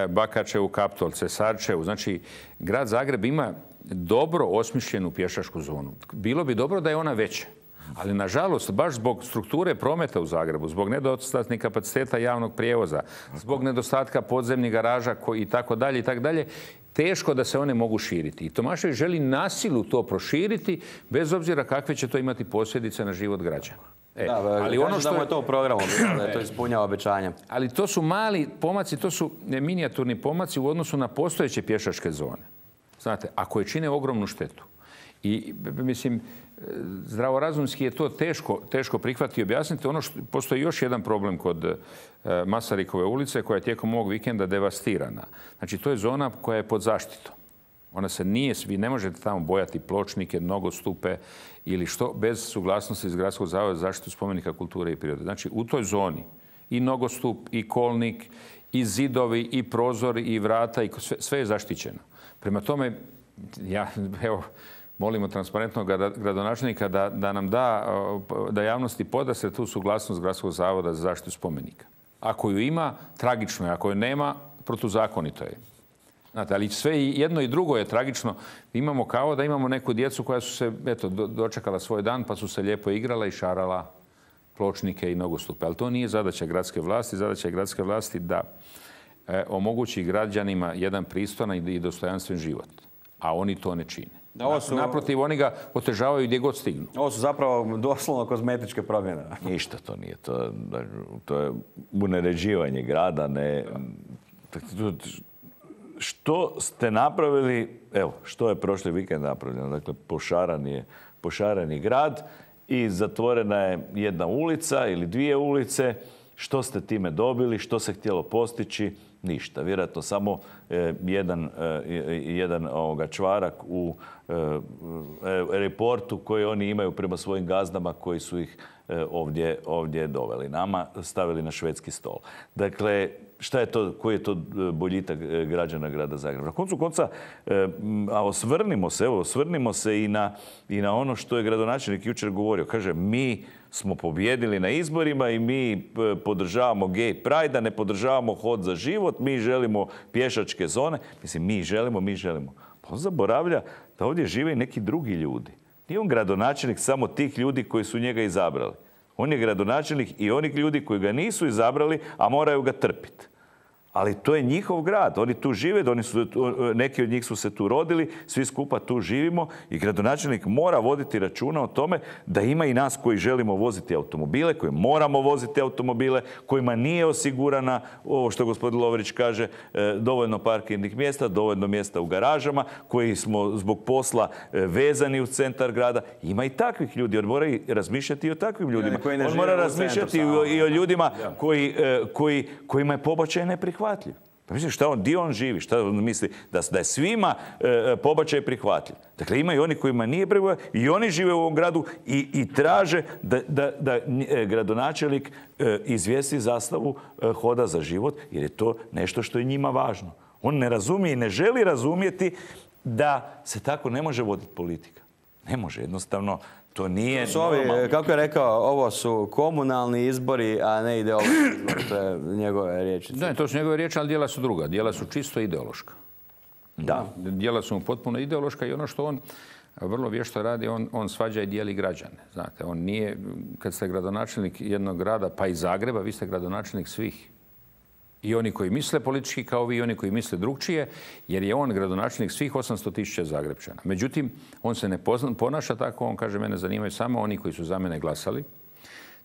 Bakačevu, Kaptolce, Sarčevu. Znači grad Zagreb ima dobro osmišljenu pješačku zonu. Bilo bi dobro da je ona veća. Ali nažalost, baš zbog strukture prometa u Zagrebu, zbog nedostatnih kapaciteta javnog prijevoza, zbog nedostatka podzemnih garaža i tako dalje, teško da se one mogu širiti. I Tomašević želi na silu to proširiti, bez obzira kakve će to imati posljedice na život građana. Ali ono što je to u programu, da je to ispunjava obećanja. Ali to su mali pomaci, to su minijaturni pomaci u odnosu na postojeće pješačke zone. Znate, a koje čine ogromnu štetu. I, mislim, zdravorazumski je to teško prihvatiti i objasniti. Postoji još jedan problem kod Masarykove ulice koja je tijekom ovog vikenda devastirana. Znači, to je zona koja je pod zaštitom. Ona se nije, vi ne možete tamo bojati pločnike, nogostupe ili što, bez suglasnosti iz Gradskog zavoda za zaštitu spomenika kulture i prirode. Znači, u toj zoni i nogostup, i kolnik, i zidovi, i prozori, i vrata, i sve je zaštićeno. Prema tome, molimo transparentnog gradonačelnika da nam da javnosti podastre tu suglasnost Gradskog zavoda za zaštitu spomenika. Ako ju ima, tragično je. Ako ju nema, protuzakonito je. Znate, ali sve jedno i drugo je tragično. Imamo da imamo neku djecu koja su se dočekala svoj dan pa su se lijepo igrala i šarala pločnike i nogostupe. Ali to nije zadaća gradske vlasti. Zadaća je gradske vlasti da omogući građanima jedan pristojan i dostojanstven život. A oni to ne čine. Naprotiv, oni ga otežavaju gdje god stignu. Ovo su zapravo doslovno kozmetičke promjene. Ništa to nije. To je uneređivanje grada. Što ste napravili, evo, što je prošli vikend napravljeno? Dakle, pošaran je grad i zatvorena je jedna ulica ili dvije ulice. Što ste time dobili? Što se htjelo postići? Ništa. Vjerojatno samo jedan čvarak u reportu koji oni imaju prema svojim gazdama koji su ih ovdje doveli. Nama stavili na švedski stol. Dakle, šta je to, koji je to boljitak građana grada Zagreba? Na koncu konca, a osvrnimo se i na ono što je gradonačelnik jučer govorio. Kaže, mi smo pobjedili na izborima i mi podržavamo gay pride, ne podržavamo hod za život, mi želimo pješačke zone. Mislim, mi želimo. Pa on zaboravlja da ovdje žive i neki drugi ljudi. Nije on gradonačelnik samo tih ljudi koji su njega izabrali. On je gradonačelnik i onih ljudi koji ga nisu izabrali, a moraju ga trpiti. Ali to je njihov grad. Oni tu žive, neki od njih su se tu rodili, svi skupa tu živimo i gradonačelnik mora voditi računa o tome da ima i nas koji želimo voziti automobile, koji moramo voziti automobile, kojima nije osigurana, ovo što gospodin Lovrić kaže, dovoljno parkirnih mjesta, dovoljno mjesta u garažama, koji smo zbog posla vezani u centar grada. Ima i takvih ljudi. On mora i razmišljati i o takvim ljudima. On mora razmišljati i o ljudima kojima je pobačaj neprihvatljiv. Pa mislim, gdje on živi? Šta on misli? Da je svima pobačaj prihvatljiv. Dakle, ima i oni kojima nije prihvatljiv i oni žive u ovom gradu i traže da gradonačelnik izvijesti zastavu hoda za život, jer je to nešto što je njima važno. On ne razumije i ne želi razumjeti da se tako ne može voditi politika. Ne može, jednostavno. To nije normalno. Kako je rekao, ovo su komunalni izbori, a ne ideološki izbori. To je njegove riječi. Da, to su njegove riječi, ali djela su druga. Djela su čisto ideološka. Da. Djela su mu potpuno ideološka i ono što on vrlo vješto radi, on svađa i dijeli građane. Znate, on nije, kad ste gradonačelnik jednog grada, pa i Zagreba, vi ste gradonačelnik svih. I oni koji misle politički kao vi, i oni koji misle drugčije, jer je on gradonačelnik svih 800.000 Zagrepčana. Međutim, on se ne ponaša tako, on kaže, mene zanimaju samo oni koji su za mene glasali.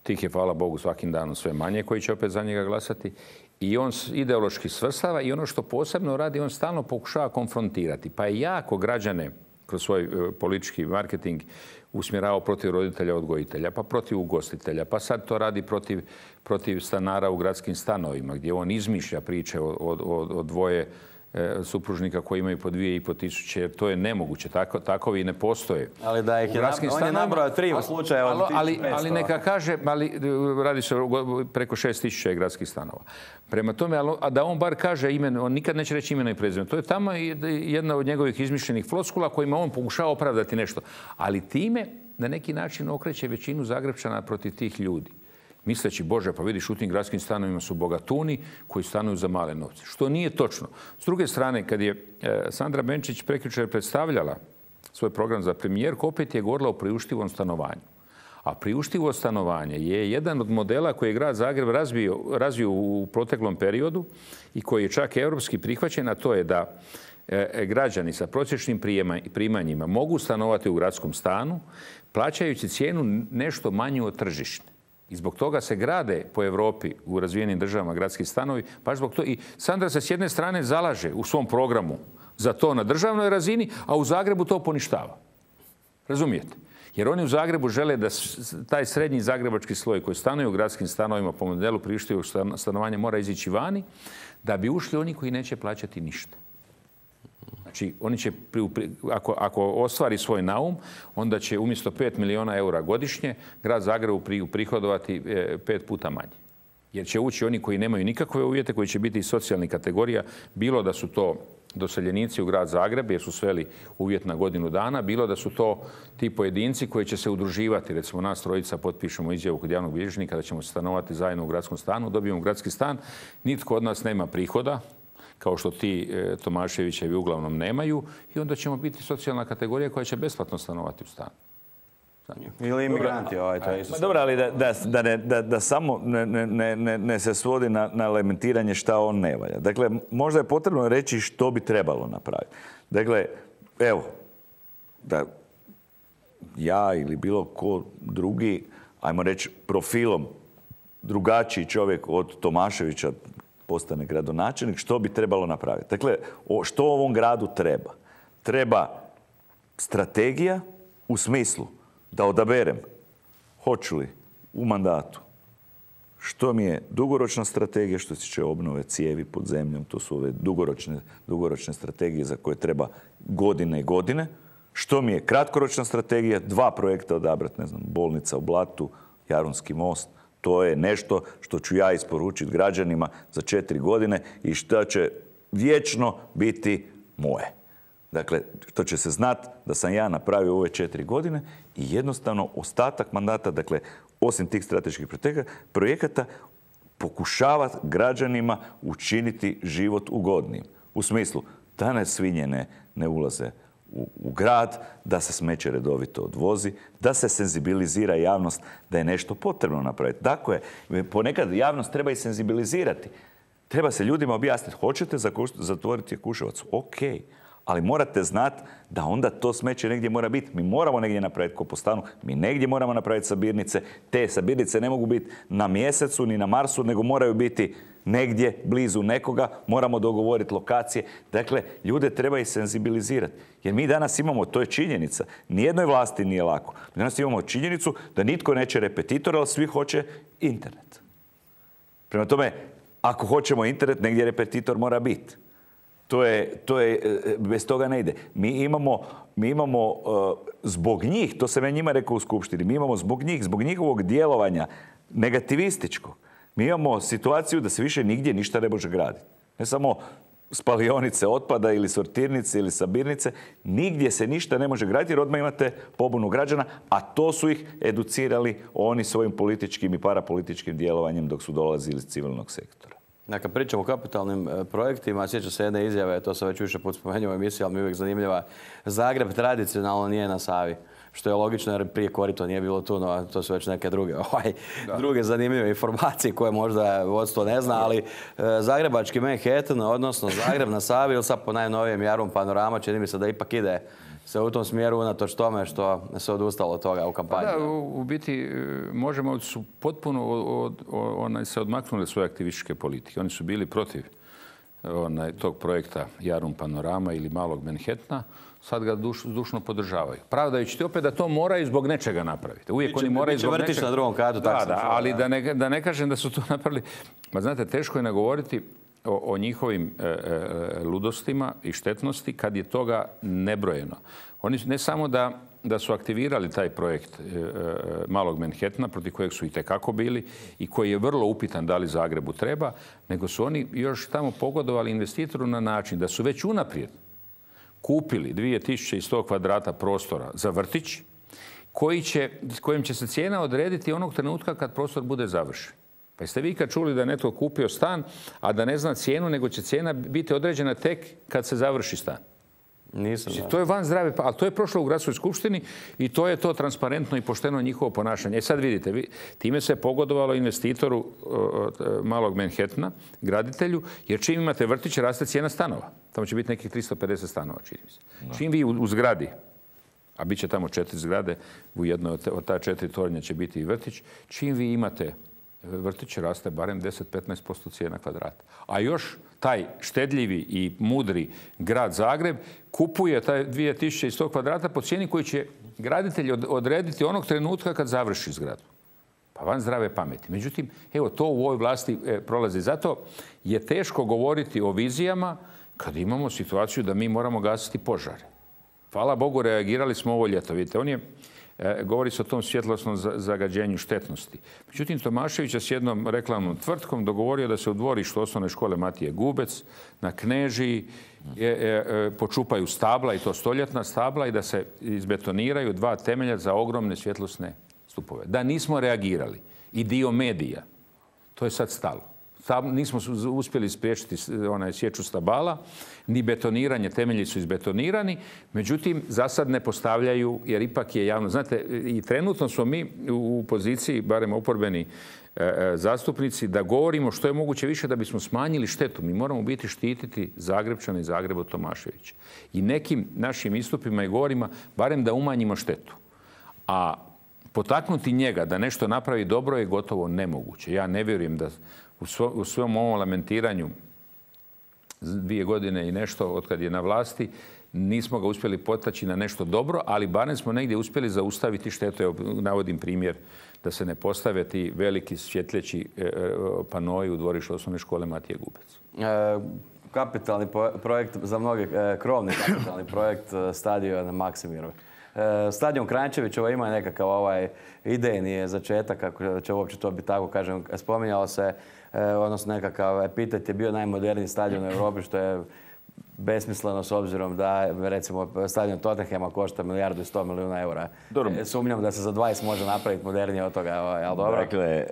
Tih je, hvala Bogu, svakim danom sve manje koji će opet za njega glasati. I on ideološki svrstava i ono što posebno radi, on stalno pokušava konfrontirati. Pa je jako građane kroz svoj politički marketing usmjeravao protiv roditelja odgojitelja, pa protiv ugostitelja, pa sad to radi protiv stanara u gradskim stanovima, gdje on izmišlja priče o dvoje supružnika koji imaju po 2.500, jer to je nemoguće. Takovi ne postoje. Ali da ih on je nabrao 3 slučaja od 1500. Ali neka kaže, radi se preko 6.000 gradskih stanova. Prema tome, a da on bar kaže ime, on nikad neće reći ime i prezime. To je tamo jedna od njegovih izmišljenih floskula kojima on pokušava opravdati nešto. Ali time na neki način okreće većinu Zagrepčana protiv tih ljudi. Misleći, Bože, pa vidiš, u tim gradskim stanovima su bogatuni koji stanuju za male novce. Što nije točno. S druge strane, kad je Sandra Benčić prekjučer predstavljala svoj program za premijerku, opet je govorila o priuštivom stanovanju. A priuštivo stanovanje je jedan od modela koji je grad Zagreb razvio u proteklom periodu i koji je čak europski prihvaćen, a to je da građani sa prosječnim primanjima mogu stanovati u gradskom stanu, plaćajući cijenu nešto manju od tržišne. I zbog toga se grade po Europi u razvijenim državama gradski stanovi. Baš zbog toga. I Sandra se s jedne strane zalaže u svom programu za to na državnoj razini, a u Zagrebu to poništava. Razumijete? Jer oni u Zagrebu žele da taj srednji zagrebački sloj koji stanuje u gradskim stanovima po modelu priuštivog stanovanja mora izići vani, da bi ušli oni koji neće plaćati ništa. Znači, oni će, ako ostvari svoj naum, onda će umjesto 5 milijuna eura godišnje grad Zagrebu prihodovati 5 puta manje. Jer će ući oni koji nemaju nikakve uvjete, koji će biti iz socijalnih kategorija, bilo da su to doseljenici u grad Zagreb, jer su sveli uvjet na godinu dana, bilo da su to ti pojedinci koji će se udruživati. Recimo, nas trojica potpišemo izjavu kod javnog bilježnika da ćemo stanovati zajedno u gradskom stanu, dobijemo gradski stan, nitko od nas nema prihoda, kao što ti Tomaševićevi uglavnom nemaju, i onda ćemo biti socijalna kategorija koja će besplatno stanovati u stanu. Ili imigranti, to je isto. Dobro, ali da samo ne se svodi na lamentiranje šta on ne valja. Dakle, možda je potrebno reći što bi trebalo napraviti. Dakle, evo, da ja ili bilo ko drugi, ajmo reći, profilom drugačiji čovjek od Tomaševića postane gradonačelnik, što bi trebalo napraviti? Dakle, što ovom gradu treba? Treba strategija u smislu da odaberem hoću li u mandatu što mi je dugoročna strategija što se tiče obnove cijevi pod zemljom, to su ove dugoročne strategije za koje treba godine i godine. Što mi je kratkoročna strategija, 2 projekta odabrati, ne znam, bolnica u Blatu, Jarunski most. To je nešto što ću ja isporučiti građanima za 4 godine i što će vječno biti moje. Dakle, što će se znati da sam ja napravio ove 4 godine i jednostavno ostatak mandata, dakle, osim tih strateških projekata, pokušavati građanima učiniti život ugodnijim. U smislu da ne svinje ne ulaze u grad, da se smeće redovito odvozi, da se senzibilizira javnost da je nešto potrebno napraviti. Dakle, ponekad javnost treba i senzibilizirati. Treba se ljudima objasniti, hoćete zatvoriti Jakuševac? Okej. Ali morate znati da onda to smeće negdje mora biti. Mi moramo negdje napraviti kompostanu, mi negdje moramo napraviti sabirnice. Te sabirnice ne mogu biti na Mjesecu ni na Marsu, nego moraju biti negdje blizu nekoga. Moramo dogovoriti lokacije. Dakle, ljude treba i senzibilizirati. Jer mi danas imamo, to je činjenica, nijednoj vlasti nije lako. Mi danas imamo činjenicu da nitko neće repetitor, ali svi hoće internet. Prema tome, ako hoćemo internet, negdje repetitor mora biti. To je, bez toga ne ide. Mi imamo zbog njih, to sam ja njima rekao u skupštini, mi imamo zbog njih, zbog njihovog djelovanja negativističkog, mi imamo situaciju da se više nigdje ništa ne može graditi. Ne samo spalionice otpada ili sortirnice ili sabirnice, nigdje se ništa ne može graditi jer odmah imate pobunu građana, a to su ih educirali oni svojim političkim i parapolitičkim djelovanjem dok su dolazili iz civilnog sektora. Kad pričamo o kapitalnim projektima, sjećam se jedne izjave, to sam već više put spomenuo u emisiji, ali mi je uvijek zanimljiva. Zagreb tradicionalno nije na Savi, što je logično jer prije korito nije bilo tu, no to su već neke druge zanimljive informacije koje možda vodstvo ne zna, ali zagrebački Manhattan, odnosno Zagreb na Savi, ili sad po najnovijem Jarun Panorama, čini mi se da ipak ide se u tom smjeru unatoč tome što se odustalo od toga u kampanji. Da, u biti možemo su potpuno se odmaknuli svoje aktivističke politike. Oni su bili protiv tog projekta Jarun Panorama ili Malog Manhattana. Sad ga dušno podržavaju. Pravdajući opet da to moraju zbog nečega napraviti. Uvijek oni moraju zbog nečega. Na drugom katu, tako da, ali da ne kažem da su to napravili. Ma znate, teško je nagovoriti o njihovim ludostima i štetnosti kad je toga nebrojeno. Oni ne samo da su aktivirali taj projekt Malog Manhattana, protiv kojeg su itekako bili i koji je vrlo upitan da li Zagrebu treba, nego su oni još tamo pogodovali investitoru na način da su već unaprijed kupili 2100 kvadrata prostora za vrtić, kojim će se cijena odrediti onog trenutka kad prostor bude završen. Pa jeste vi kad čuli da je netko kupio stan, a da ne zna cijenu, nego će cijena biti određena tek kad se završi stan? Nisam. To je van zdrave, ali to je prošlo u gradskoj skupštini i to je to transparentno i pošteno njihovo ponašanje. E sad vidite, time se pogodovalo investitoru Malog Manhattana, graditelju, jer čim imate vrtić, raste cijena stanova. Tamo će biti nekih 350 stanova, čini mi se. Čim vi u zgradi, a bit će tamo 4 zgrade, u jednoj od ta 4 tornja će biti i vrtić, čim vi imate vrtić, raste barem 10-15% cijena kvadrata. A još taj štedljivi i mudri grad Zagreb kupuje taj 2100 kvadrata po cijeni koju će graditelj odrediti onog trenutka kad završi zgradu. Pa van zdrave pameti. Međutim, evo, to u ovoj vlasti prolazi. Zato je teško govoriti o vizijama kad imamo situaciju da mi moramo gasiti požare. Hvala Bogu, reagirali smo ovo ljeto. Vidite, govori se o tom svjetlosnom zagađenju štetnosti. Međutim, Tomašević je s jednom reklamnom tvrtkom dogovorio da se u dvorištu osnovne škole Matije Gubec na Knežiji počupaju stabla, i to stoljetna stabla, i da se izbetoniraju 2 temelja za ogromne svjetlosne stupove. Da nismo reagirali i dio medija, to je sad stalo. nismo uspjeli spriječiti sječu stabala, ni betoniranje, temelji su izbetonirani, međutim, za sad ne postavljaju, jer ipak je javno. Znate, i trenutno smo mi u poziciji, barem oporbeni zastupnici, da govorimo što je moguće više da bismo smanjili štetu. Mi moramo biti štititi Zagrepčane i Zagreba Tomaševića. I nekim našim istupima i govorima, barem da umanjimo štetu. A potaknuti njega da nešto napravi dobro je gotovo nemoguće. Ja ne vjerujem da u svom ovom lamentiranju 2 godine i nešto od kad je na vlasti nismo ga uspjeli potaći na nešto dobro, ali barem smo negdje uspjeli zaustaviti štetu. Evo, navodim primjer da se ne postave ti veliki svjetljeći panoji u dvorištu osnovne škole Matije Gubec. Kapitalni projekt, za mnoge krovni kapitalni projekt stadiona Maksimirov. Stadion Kranjčevićeva ima nekakav idejni začetak, kako će uopće to biti tako, kažem, spominjalo se, odnosno nekakav epitet je bio najmoderniji stadion u Europi, što je besmisleno s obzirom da, recimo, stadion Tottenhama košta 1,1 milijarda eura. Sumnjam da se za 20 može napraviti modernije od toga, ali dobro. Dakle,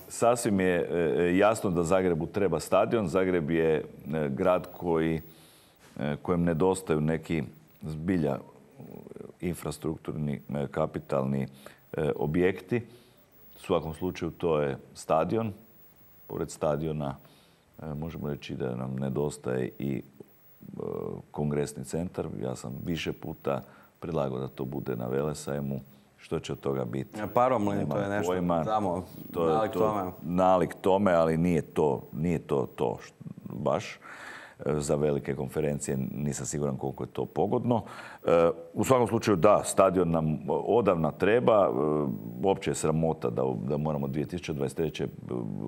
sasvim je jasno da Zagrebu treba stadion. Zagreb je grad kojem nedostaju neki zbilja infrastrukturni, kapitalni objekti. U svakom slučaju to je stadion. Pored stadiona možemo reći da nam nedostaje i kongresni centar. Ja sam više puta predlagao da to bude na Velesajmu. Što će od toga biti? Paromlin, to je nešto tamo, nalik tome. Nalik tome, ali nije to baš. Za velike konferencije nisam siguran koliko je to pogodno. U svakom slučaju da, stadion nam odavna treba. Uopće je sramota da moramo 2023.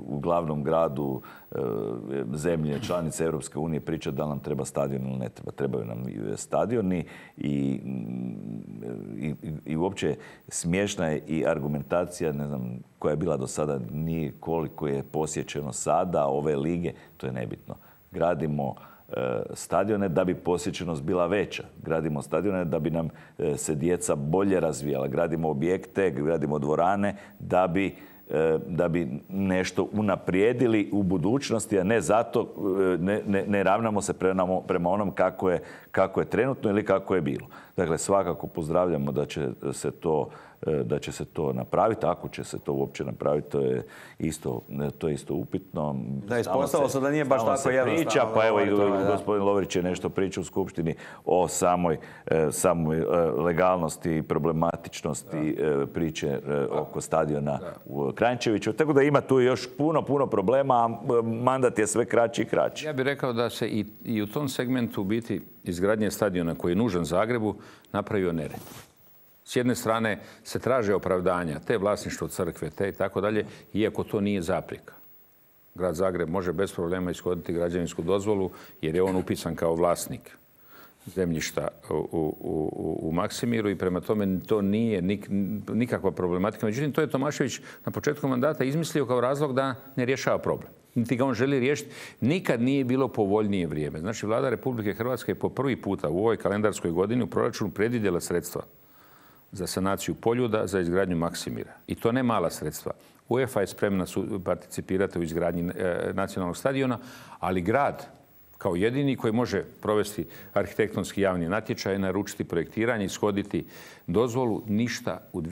u glavnom gradu zemlje, članice Europske unije pričati da nam treba stadion ili ne treba. Trebaju nam stadioni i uopće smiješna je i argumentacija, ne znam, koja je bila do sada, nije koliko je posjećeno sada ove lige, to je nebitno. Gradimo stadione da bi posjećenost bila veća. Gradimo stadione da bi nam se djeca bolje razvijala. Gradimo objekte, gradimo dvorane da bi nešto unaprijedili u budućnosti, a ne zato ne ravnamo se prema onom kako je trenutno ili kako je bilo. Dakle, svakako pozdravljamo da će se to napraviti. Ako će se to uopće napraviti, to je isto upitno. Da, ispostavilo se da nije baš tako jednostavno. Pa evo i gospodin Lovrić je nešto pričao u Skupštini o samoj legalnosti i problematičnosti priče oko stadiona u Kranjčeviću. Tako da ima tu još puno problema, a mandat je sve kraći i kraći. Ja bih rekao da se i u tom segmentu biti izgradnje stadiona koji je nužan Zagrebu napravio nered. S jedne strane se traže opravdanja, te vlasništvo crkve, te i tako dalje, iako to nije zapreka. Grad Zagreb može bez problema ishoditi građevinsku dozvolu jer je on upisan kao vlasnik zemljišta u Maksimiru i prema tome to nije nikakva problematika. Međutim, to je Tomašević na početku mandata izmislio kao razlog da ne rješava problem. Niti ga on želi riješiti. Nikad nije bilo povoljnije vrijeme. Znači, Vlada Republike Hrvatske je po prvi puta u ovoj kalendarskoj godini u proračunu predvidjela sredstva za sanaciju Poljuda, za izgradnju Maksimira. I to ne mala sredstva. UEFA je spremna participirati u izgradnji nacionalnog stadiona, ali grad kao jedini koji može provesti arhitektonski javni natječaj, naručiti projektiranje, ishoditi dozvolu, ništa u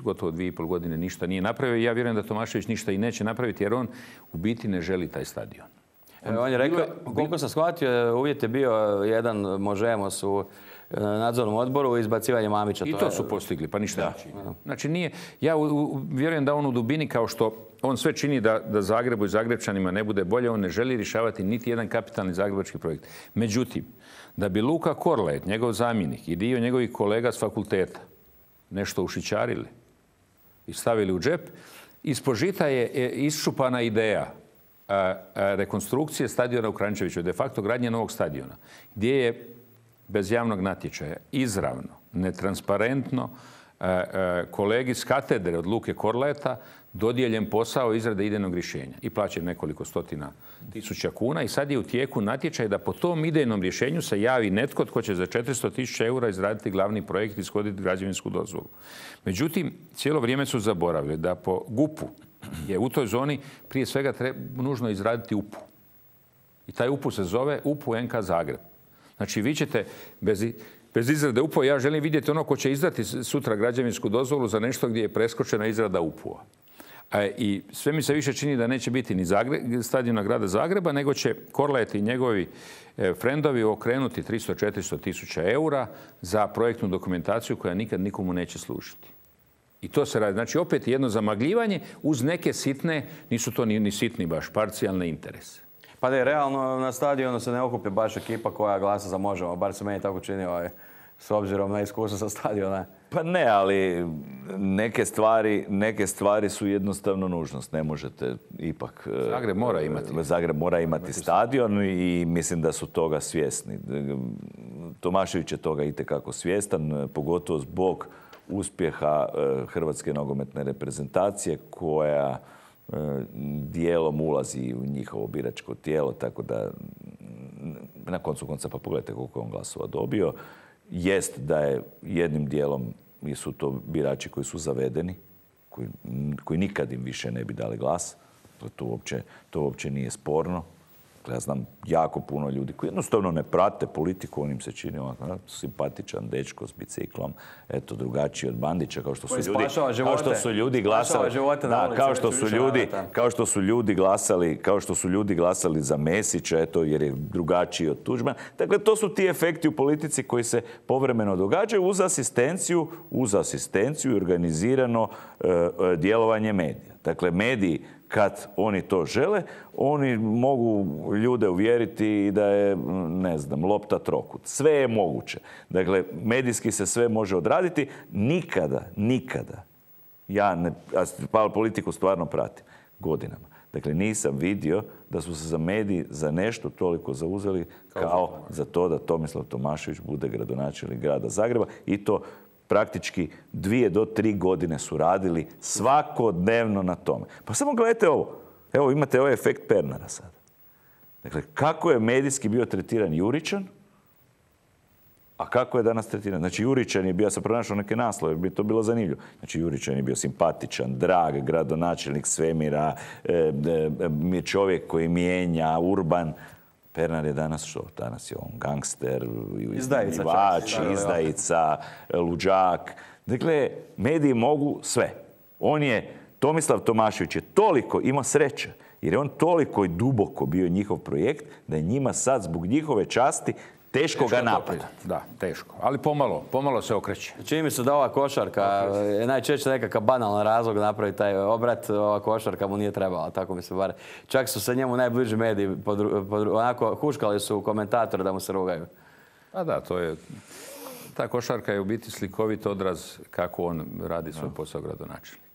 gotovo 2,5 godine ništa nije napravio. I ja vjerujem da Tomašević ništa i neće napraviti jer on u biti ne želi taj stadion. On je rekao, koliko sam shvatio, uvjet je bio jedan Možemos u nadzornom odboru izbacivanje Mamića. I to su postigli, pa ništa neće. Znači nije, ja vjerujem da on u dubini kao što on sve čini da Zagrebu i Zagrebčanima ne bude bolje, on ne želi rješavati niti jedan kapitalni zagrebački projekt. Međutim, da bi Luka Korlaet, njegov zamjenik i dio njegovih kolega s fakulteta nešto ušićarili i stavili u džep, ispod žita je iščupana ideja rekonstrukcije stadiona u Kranjčeviću, de facto gradnje novog stadiona, gdje je bez javnog natječaja, izravno, netransparentno, kolegi s katedre od Luke Korlaeta dodijeljen posao izrade idejnog rješenja i plaćen nekoliko stotina tisuća kuna i sad je u tijeku natječaj da po tom idejnom rješenju se javi netko tko će za 400.000 eura izraditi glavni projekt i ishoditi građevinsku dozvolu. Međutim, cijelo vrijeme su zaboravili da po GUP-u je u toj zoni prije svega nužno izraditi UPU. I taj UPU se zove UPU NK Zagreb. Znači vi ćete bez izrade UPU-a, ja želim vidjeti ono ko će izdati sutra građevinsku dozvolu za nešto gdje je preskočena izrada UPU-a. I sve mi se više čini da neće biti ni stadiona grada Zagreba, nego će Korlaet i njegovi frendovi okrenuti 300-400 tisuća eura za projektnu dokumentaciju koja nikad nikomu neće služiti. I to se radi. Znači opet jedno zamagljivanje uz neke sitne, nisu to ni sitni baš, parcijalne interese. Pa da, realno na stadionu se ne okupi baš ekipa koja glasa za Možemo, bar se meni tako čini s obzirom na iskustvo sa stadiona. Pa ne, ali neke stvari su jednostavno nužnost. Ne možete ipak... Zagreb mora imati stadion i mislim da su toga svjesni. Tomašević je toga itekako svjestan, pogotovo zbog uspjeha Hrvatske nogometne reprezentacije koja dijelom ulazi u njihovo biračko tijelo, tako da na koncu konca pa pogledajte koliko je on glasova dobio. Jest da je jednim dijelom su to birači koji su zavedeni, koji nikad im više ne bi dali glas. To uopće nije sporno. Ja znam jako puno ljudi koji jednostavno ne prate politiku, on im se čini simpatičan dečko s biciklom, eto, drugačiji od Bandića, kao što su ljudi glasali, kao što su ljudi glasali za Mesića, eto, jer je drugačiji od Tuđmana. Dakle, to su ti efekti u politici koji se povremeno događaju uz asistenciju i organizirano djelovanje medija. Dakle, mediji kad oni to žele, oni mogu ljude uvjeriti da je, ne znam, lopta trokut. Sve je moguće. Dakle, medijski se sve može odraditi. Nikada, ja politiku stvarno pratim godinama. Dakle, nisam vidio da su se za mediji za nešto toliko zauzeli kao za to da Tomislav Tomašević bude gradonačelnik grada Zagreba i to praktički 2 do 3 godine su radili svakodnevno na tome. Pa samo gledajte ovo. Evo imate ovaj efekt Pernara sada. Dakle, kako je medijski bio tretiran Juričan, a kako je danas tretiran? Znači, Juričan je bio, ja sam pronašao neke naslove, jer bi to bilo zanimljivo. Znači, Juričan je bio simpatičan, drag, gradonačelnik svemira, čovjek koji mijenja, urban. Pernar je danas što? Danas je on gangster, izdajica, luđak. Dakle, mediji mogu sve. Tomislav Tomašević je toliko imao sreće, jer je on toliko i duboko bio njihov projekt, da je njima sad zbog njihove časti teško ga napadati. Da, teško. Ali pomalo se okreće. Čini mi se da ova košarka je najčešće nekakav banalan razlog napraviti taj obrat. Ova košarka mu nije trebala, tako mi se bar. Čak su se njemu najbliži mediji onako huškali su komentatori da mu se rugaju. A da, to je... Ta košarka je u biti slikovit odraz kako on radi svoj posao gradonačelnika.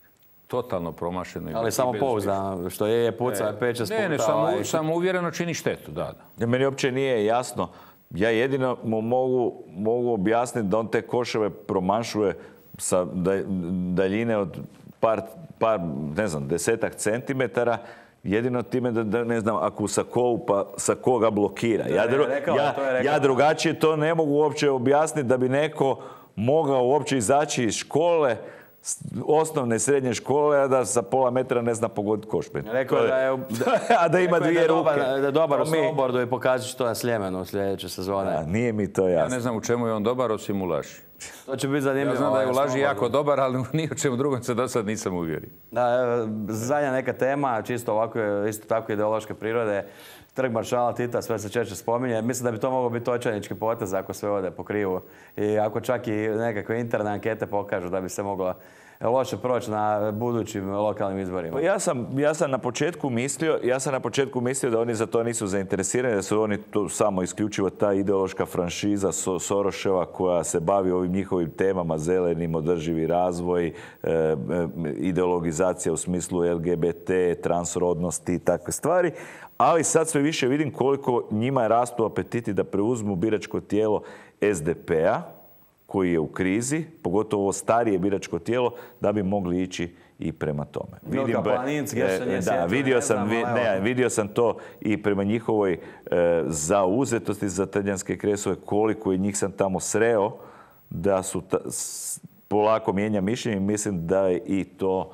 Totalno promašeno. Ali samo pouzdano, što je puca, peče sputa. Ne, samo uvjereno čini štetu, da. Meni uopće nije jasno. Ja jedino mu mogu objasniti da on te koševe promašuje sa daljine od par, ne znam, 10-ak centimetara, jedino time da ne znam, ako u sakovu, pa sako ga blokira. Ja drugačije to ne mogu uopće objasniti da bi neko mogao uopće izaći iz škole, osnovne i srednje škole, a da sa pola metra ne zna pogoditi koš. Rekao je da je... A da ima dvije ruke. Da je dobar u snowboardu i pokazat će to na Sljemenu u sljedeće sezone. Nije mi to jasno. Ja ne znam u čemu je on dobar, osim u laži. To će biti zanimljivo. Ja znam da je u laži jako dobar, ali ni o čemu drugom se do sad nisam uvjerio. Da, zadnja neka tema, čisto ovako, isto tako ideološke prirode. Trg maršala Tita, sve se češće spominje. Mislim da bi to moglo biti očajnički potez ako sve ode po krivu. I ako čak i nekakve interne ankete pokažu da bi se moglo loše proći na budućim lokalnim izborima. Ja sam na početku mislio da oni za to nisu zainteresirani, da su oni to samo isključivo ta ideološka franšiza Soroševa koja se bavi ovim njihovim temama, zelenim, održivi razvoj, ideologizacija u smislu LGBT, transrodnosti i takve stvari. Ali sad sve više vidim koliko njima rastu apetiti da preuzmu biračko tijelo SDP-a, koji je u krizi, pogotovo starije biračko tijelo, da bi mogli ići i prema tome. Vidio sam to i prema njihovoj zauzetosti za talijanske kresove, koliko je njih sam tamo sreo, da su polako mijenja mišljenje. Mislim da je i to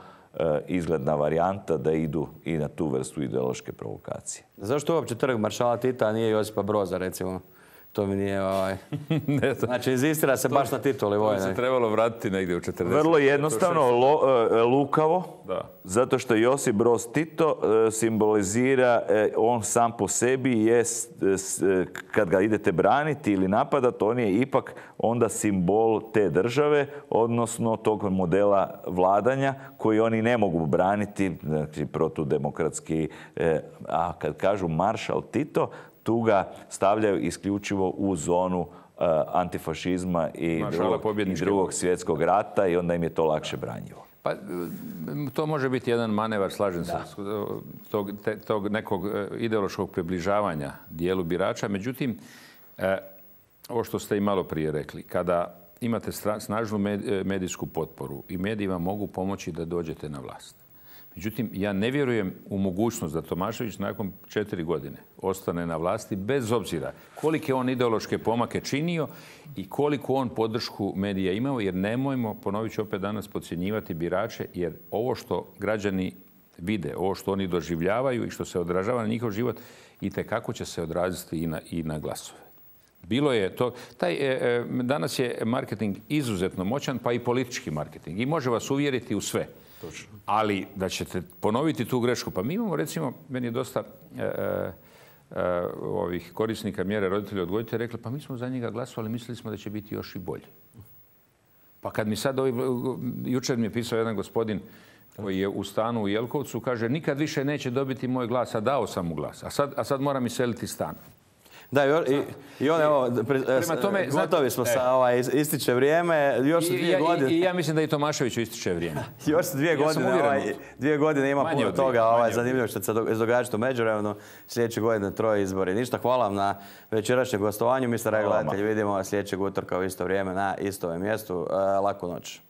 izgledna varijanta da idu i na tu vrstu ideološke provokacije. Zašto uopće trg maršala Tita, a nije Josipa Broza, recimo? To mi nije... Znači, inzistira se baš na tituli vojne. To bi se trebalo vratiti negdje u 40. Vrlo jednostavno, lukavo, zato što Josip Broz Tito simbolizira, on sam po sebi je, kad ga idete braniti ili napadati, on je ipak onda simbol te države, odnosno tog modela vladanja koji oni ne mogu braniti, znači protudemokratski, a kad kažu maršal Tito, tu ga stavljaju isključivo u zonu antifašizma i drugog svjetskog rata i onda im je to lakše branjivo. Pa, to može biti jedan manevar, slažem se, tog nekog ideološkog približavanja dijelu birača. Međutim, ovo što ste i malo prije rekli, kada imate snažnu medijsku potporu i mediji vam mogu pomoći da dođete na vlast. Međutim, ja ne vjerujem u mogućnost da Tomašević nakon 4 godine ostane na vlasti bez obzira kolike on ideološke pomake činio i koliko on podršku medija imao, jer nemojmo, ponovit ću opet danas, podcjenjivati birače, jer ovo što građani vide, ovo što oni doživljavaju i što se odražava na njihov život, itekako će se odraziti i na glasove. Bilo je to, danas je marketing izuzetno moćan, pa i politički marketing. I može vas uvjeriti u sve. Ali da ćete ponoviti tu grešku. Pa mi imamo, recimo, meni je dosta ovih korisnika mjere roditelja odgojitelja rekli, pa mi smo za njega glasovali, mislili smo da će biti još i bolji. Pa kad mi sad jučer mi je pisao jedan gospodin koji je u stanu u Jelkovcu, kaže, nikad više neće dobiti moj glas, a dao sam mu glas. A sad moram iseliti stan. Da, i on, evo, gotovi smo sa ističe vrijeme, još su 2 godine. I ja mislim da i Tomaševiću ističe vrijeme. Još su 2 godine, 2 godine ima puno toga zanimljivo što se događa u međuvremenu. Sljedeće godine 3 izbori. Ništa, hvala vam na večerašnjem gostovanju. Mi se, gledatelji, vidimo sljedećeg utorka u isto vrijeme na istom mjestu. Laku noć.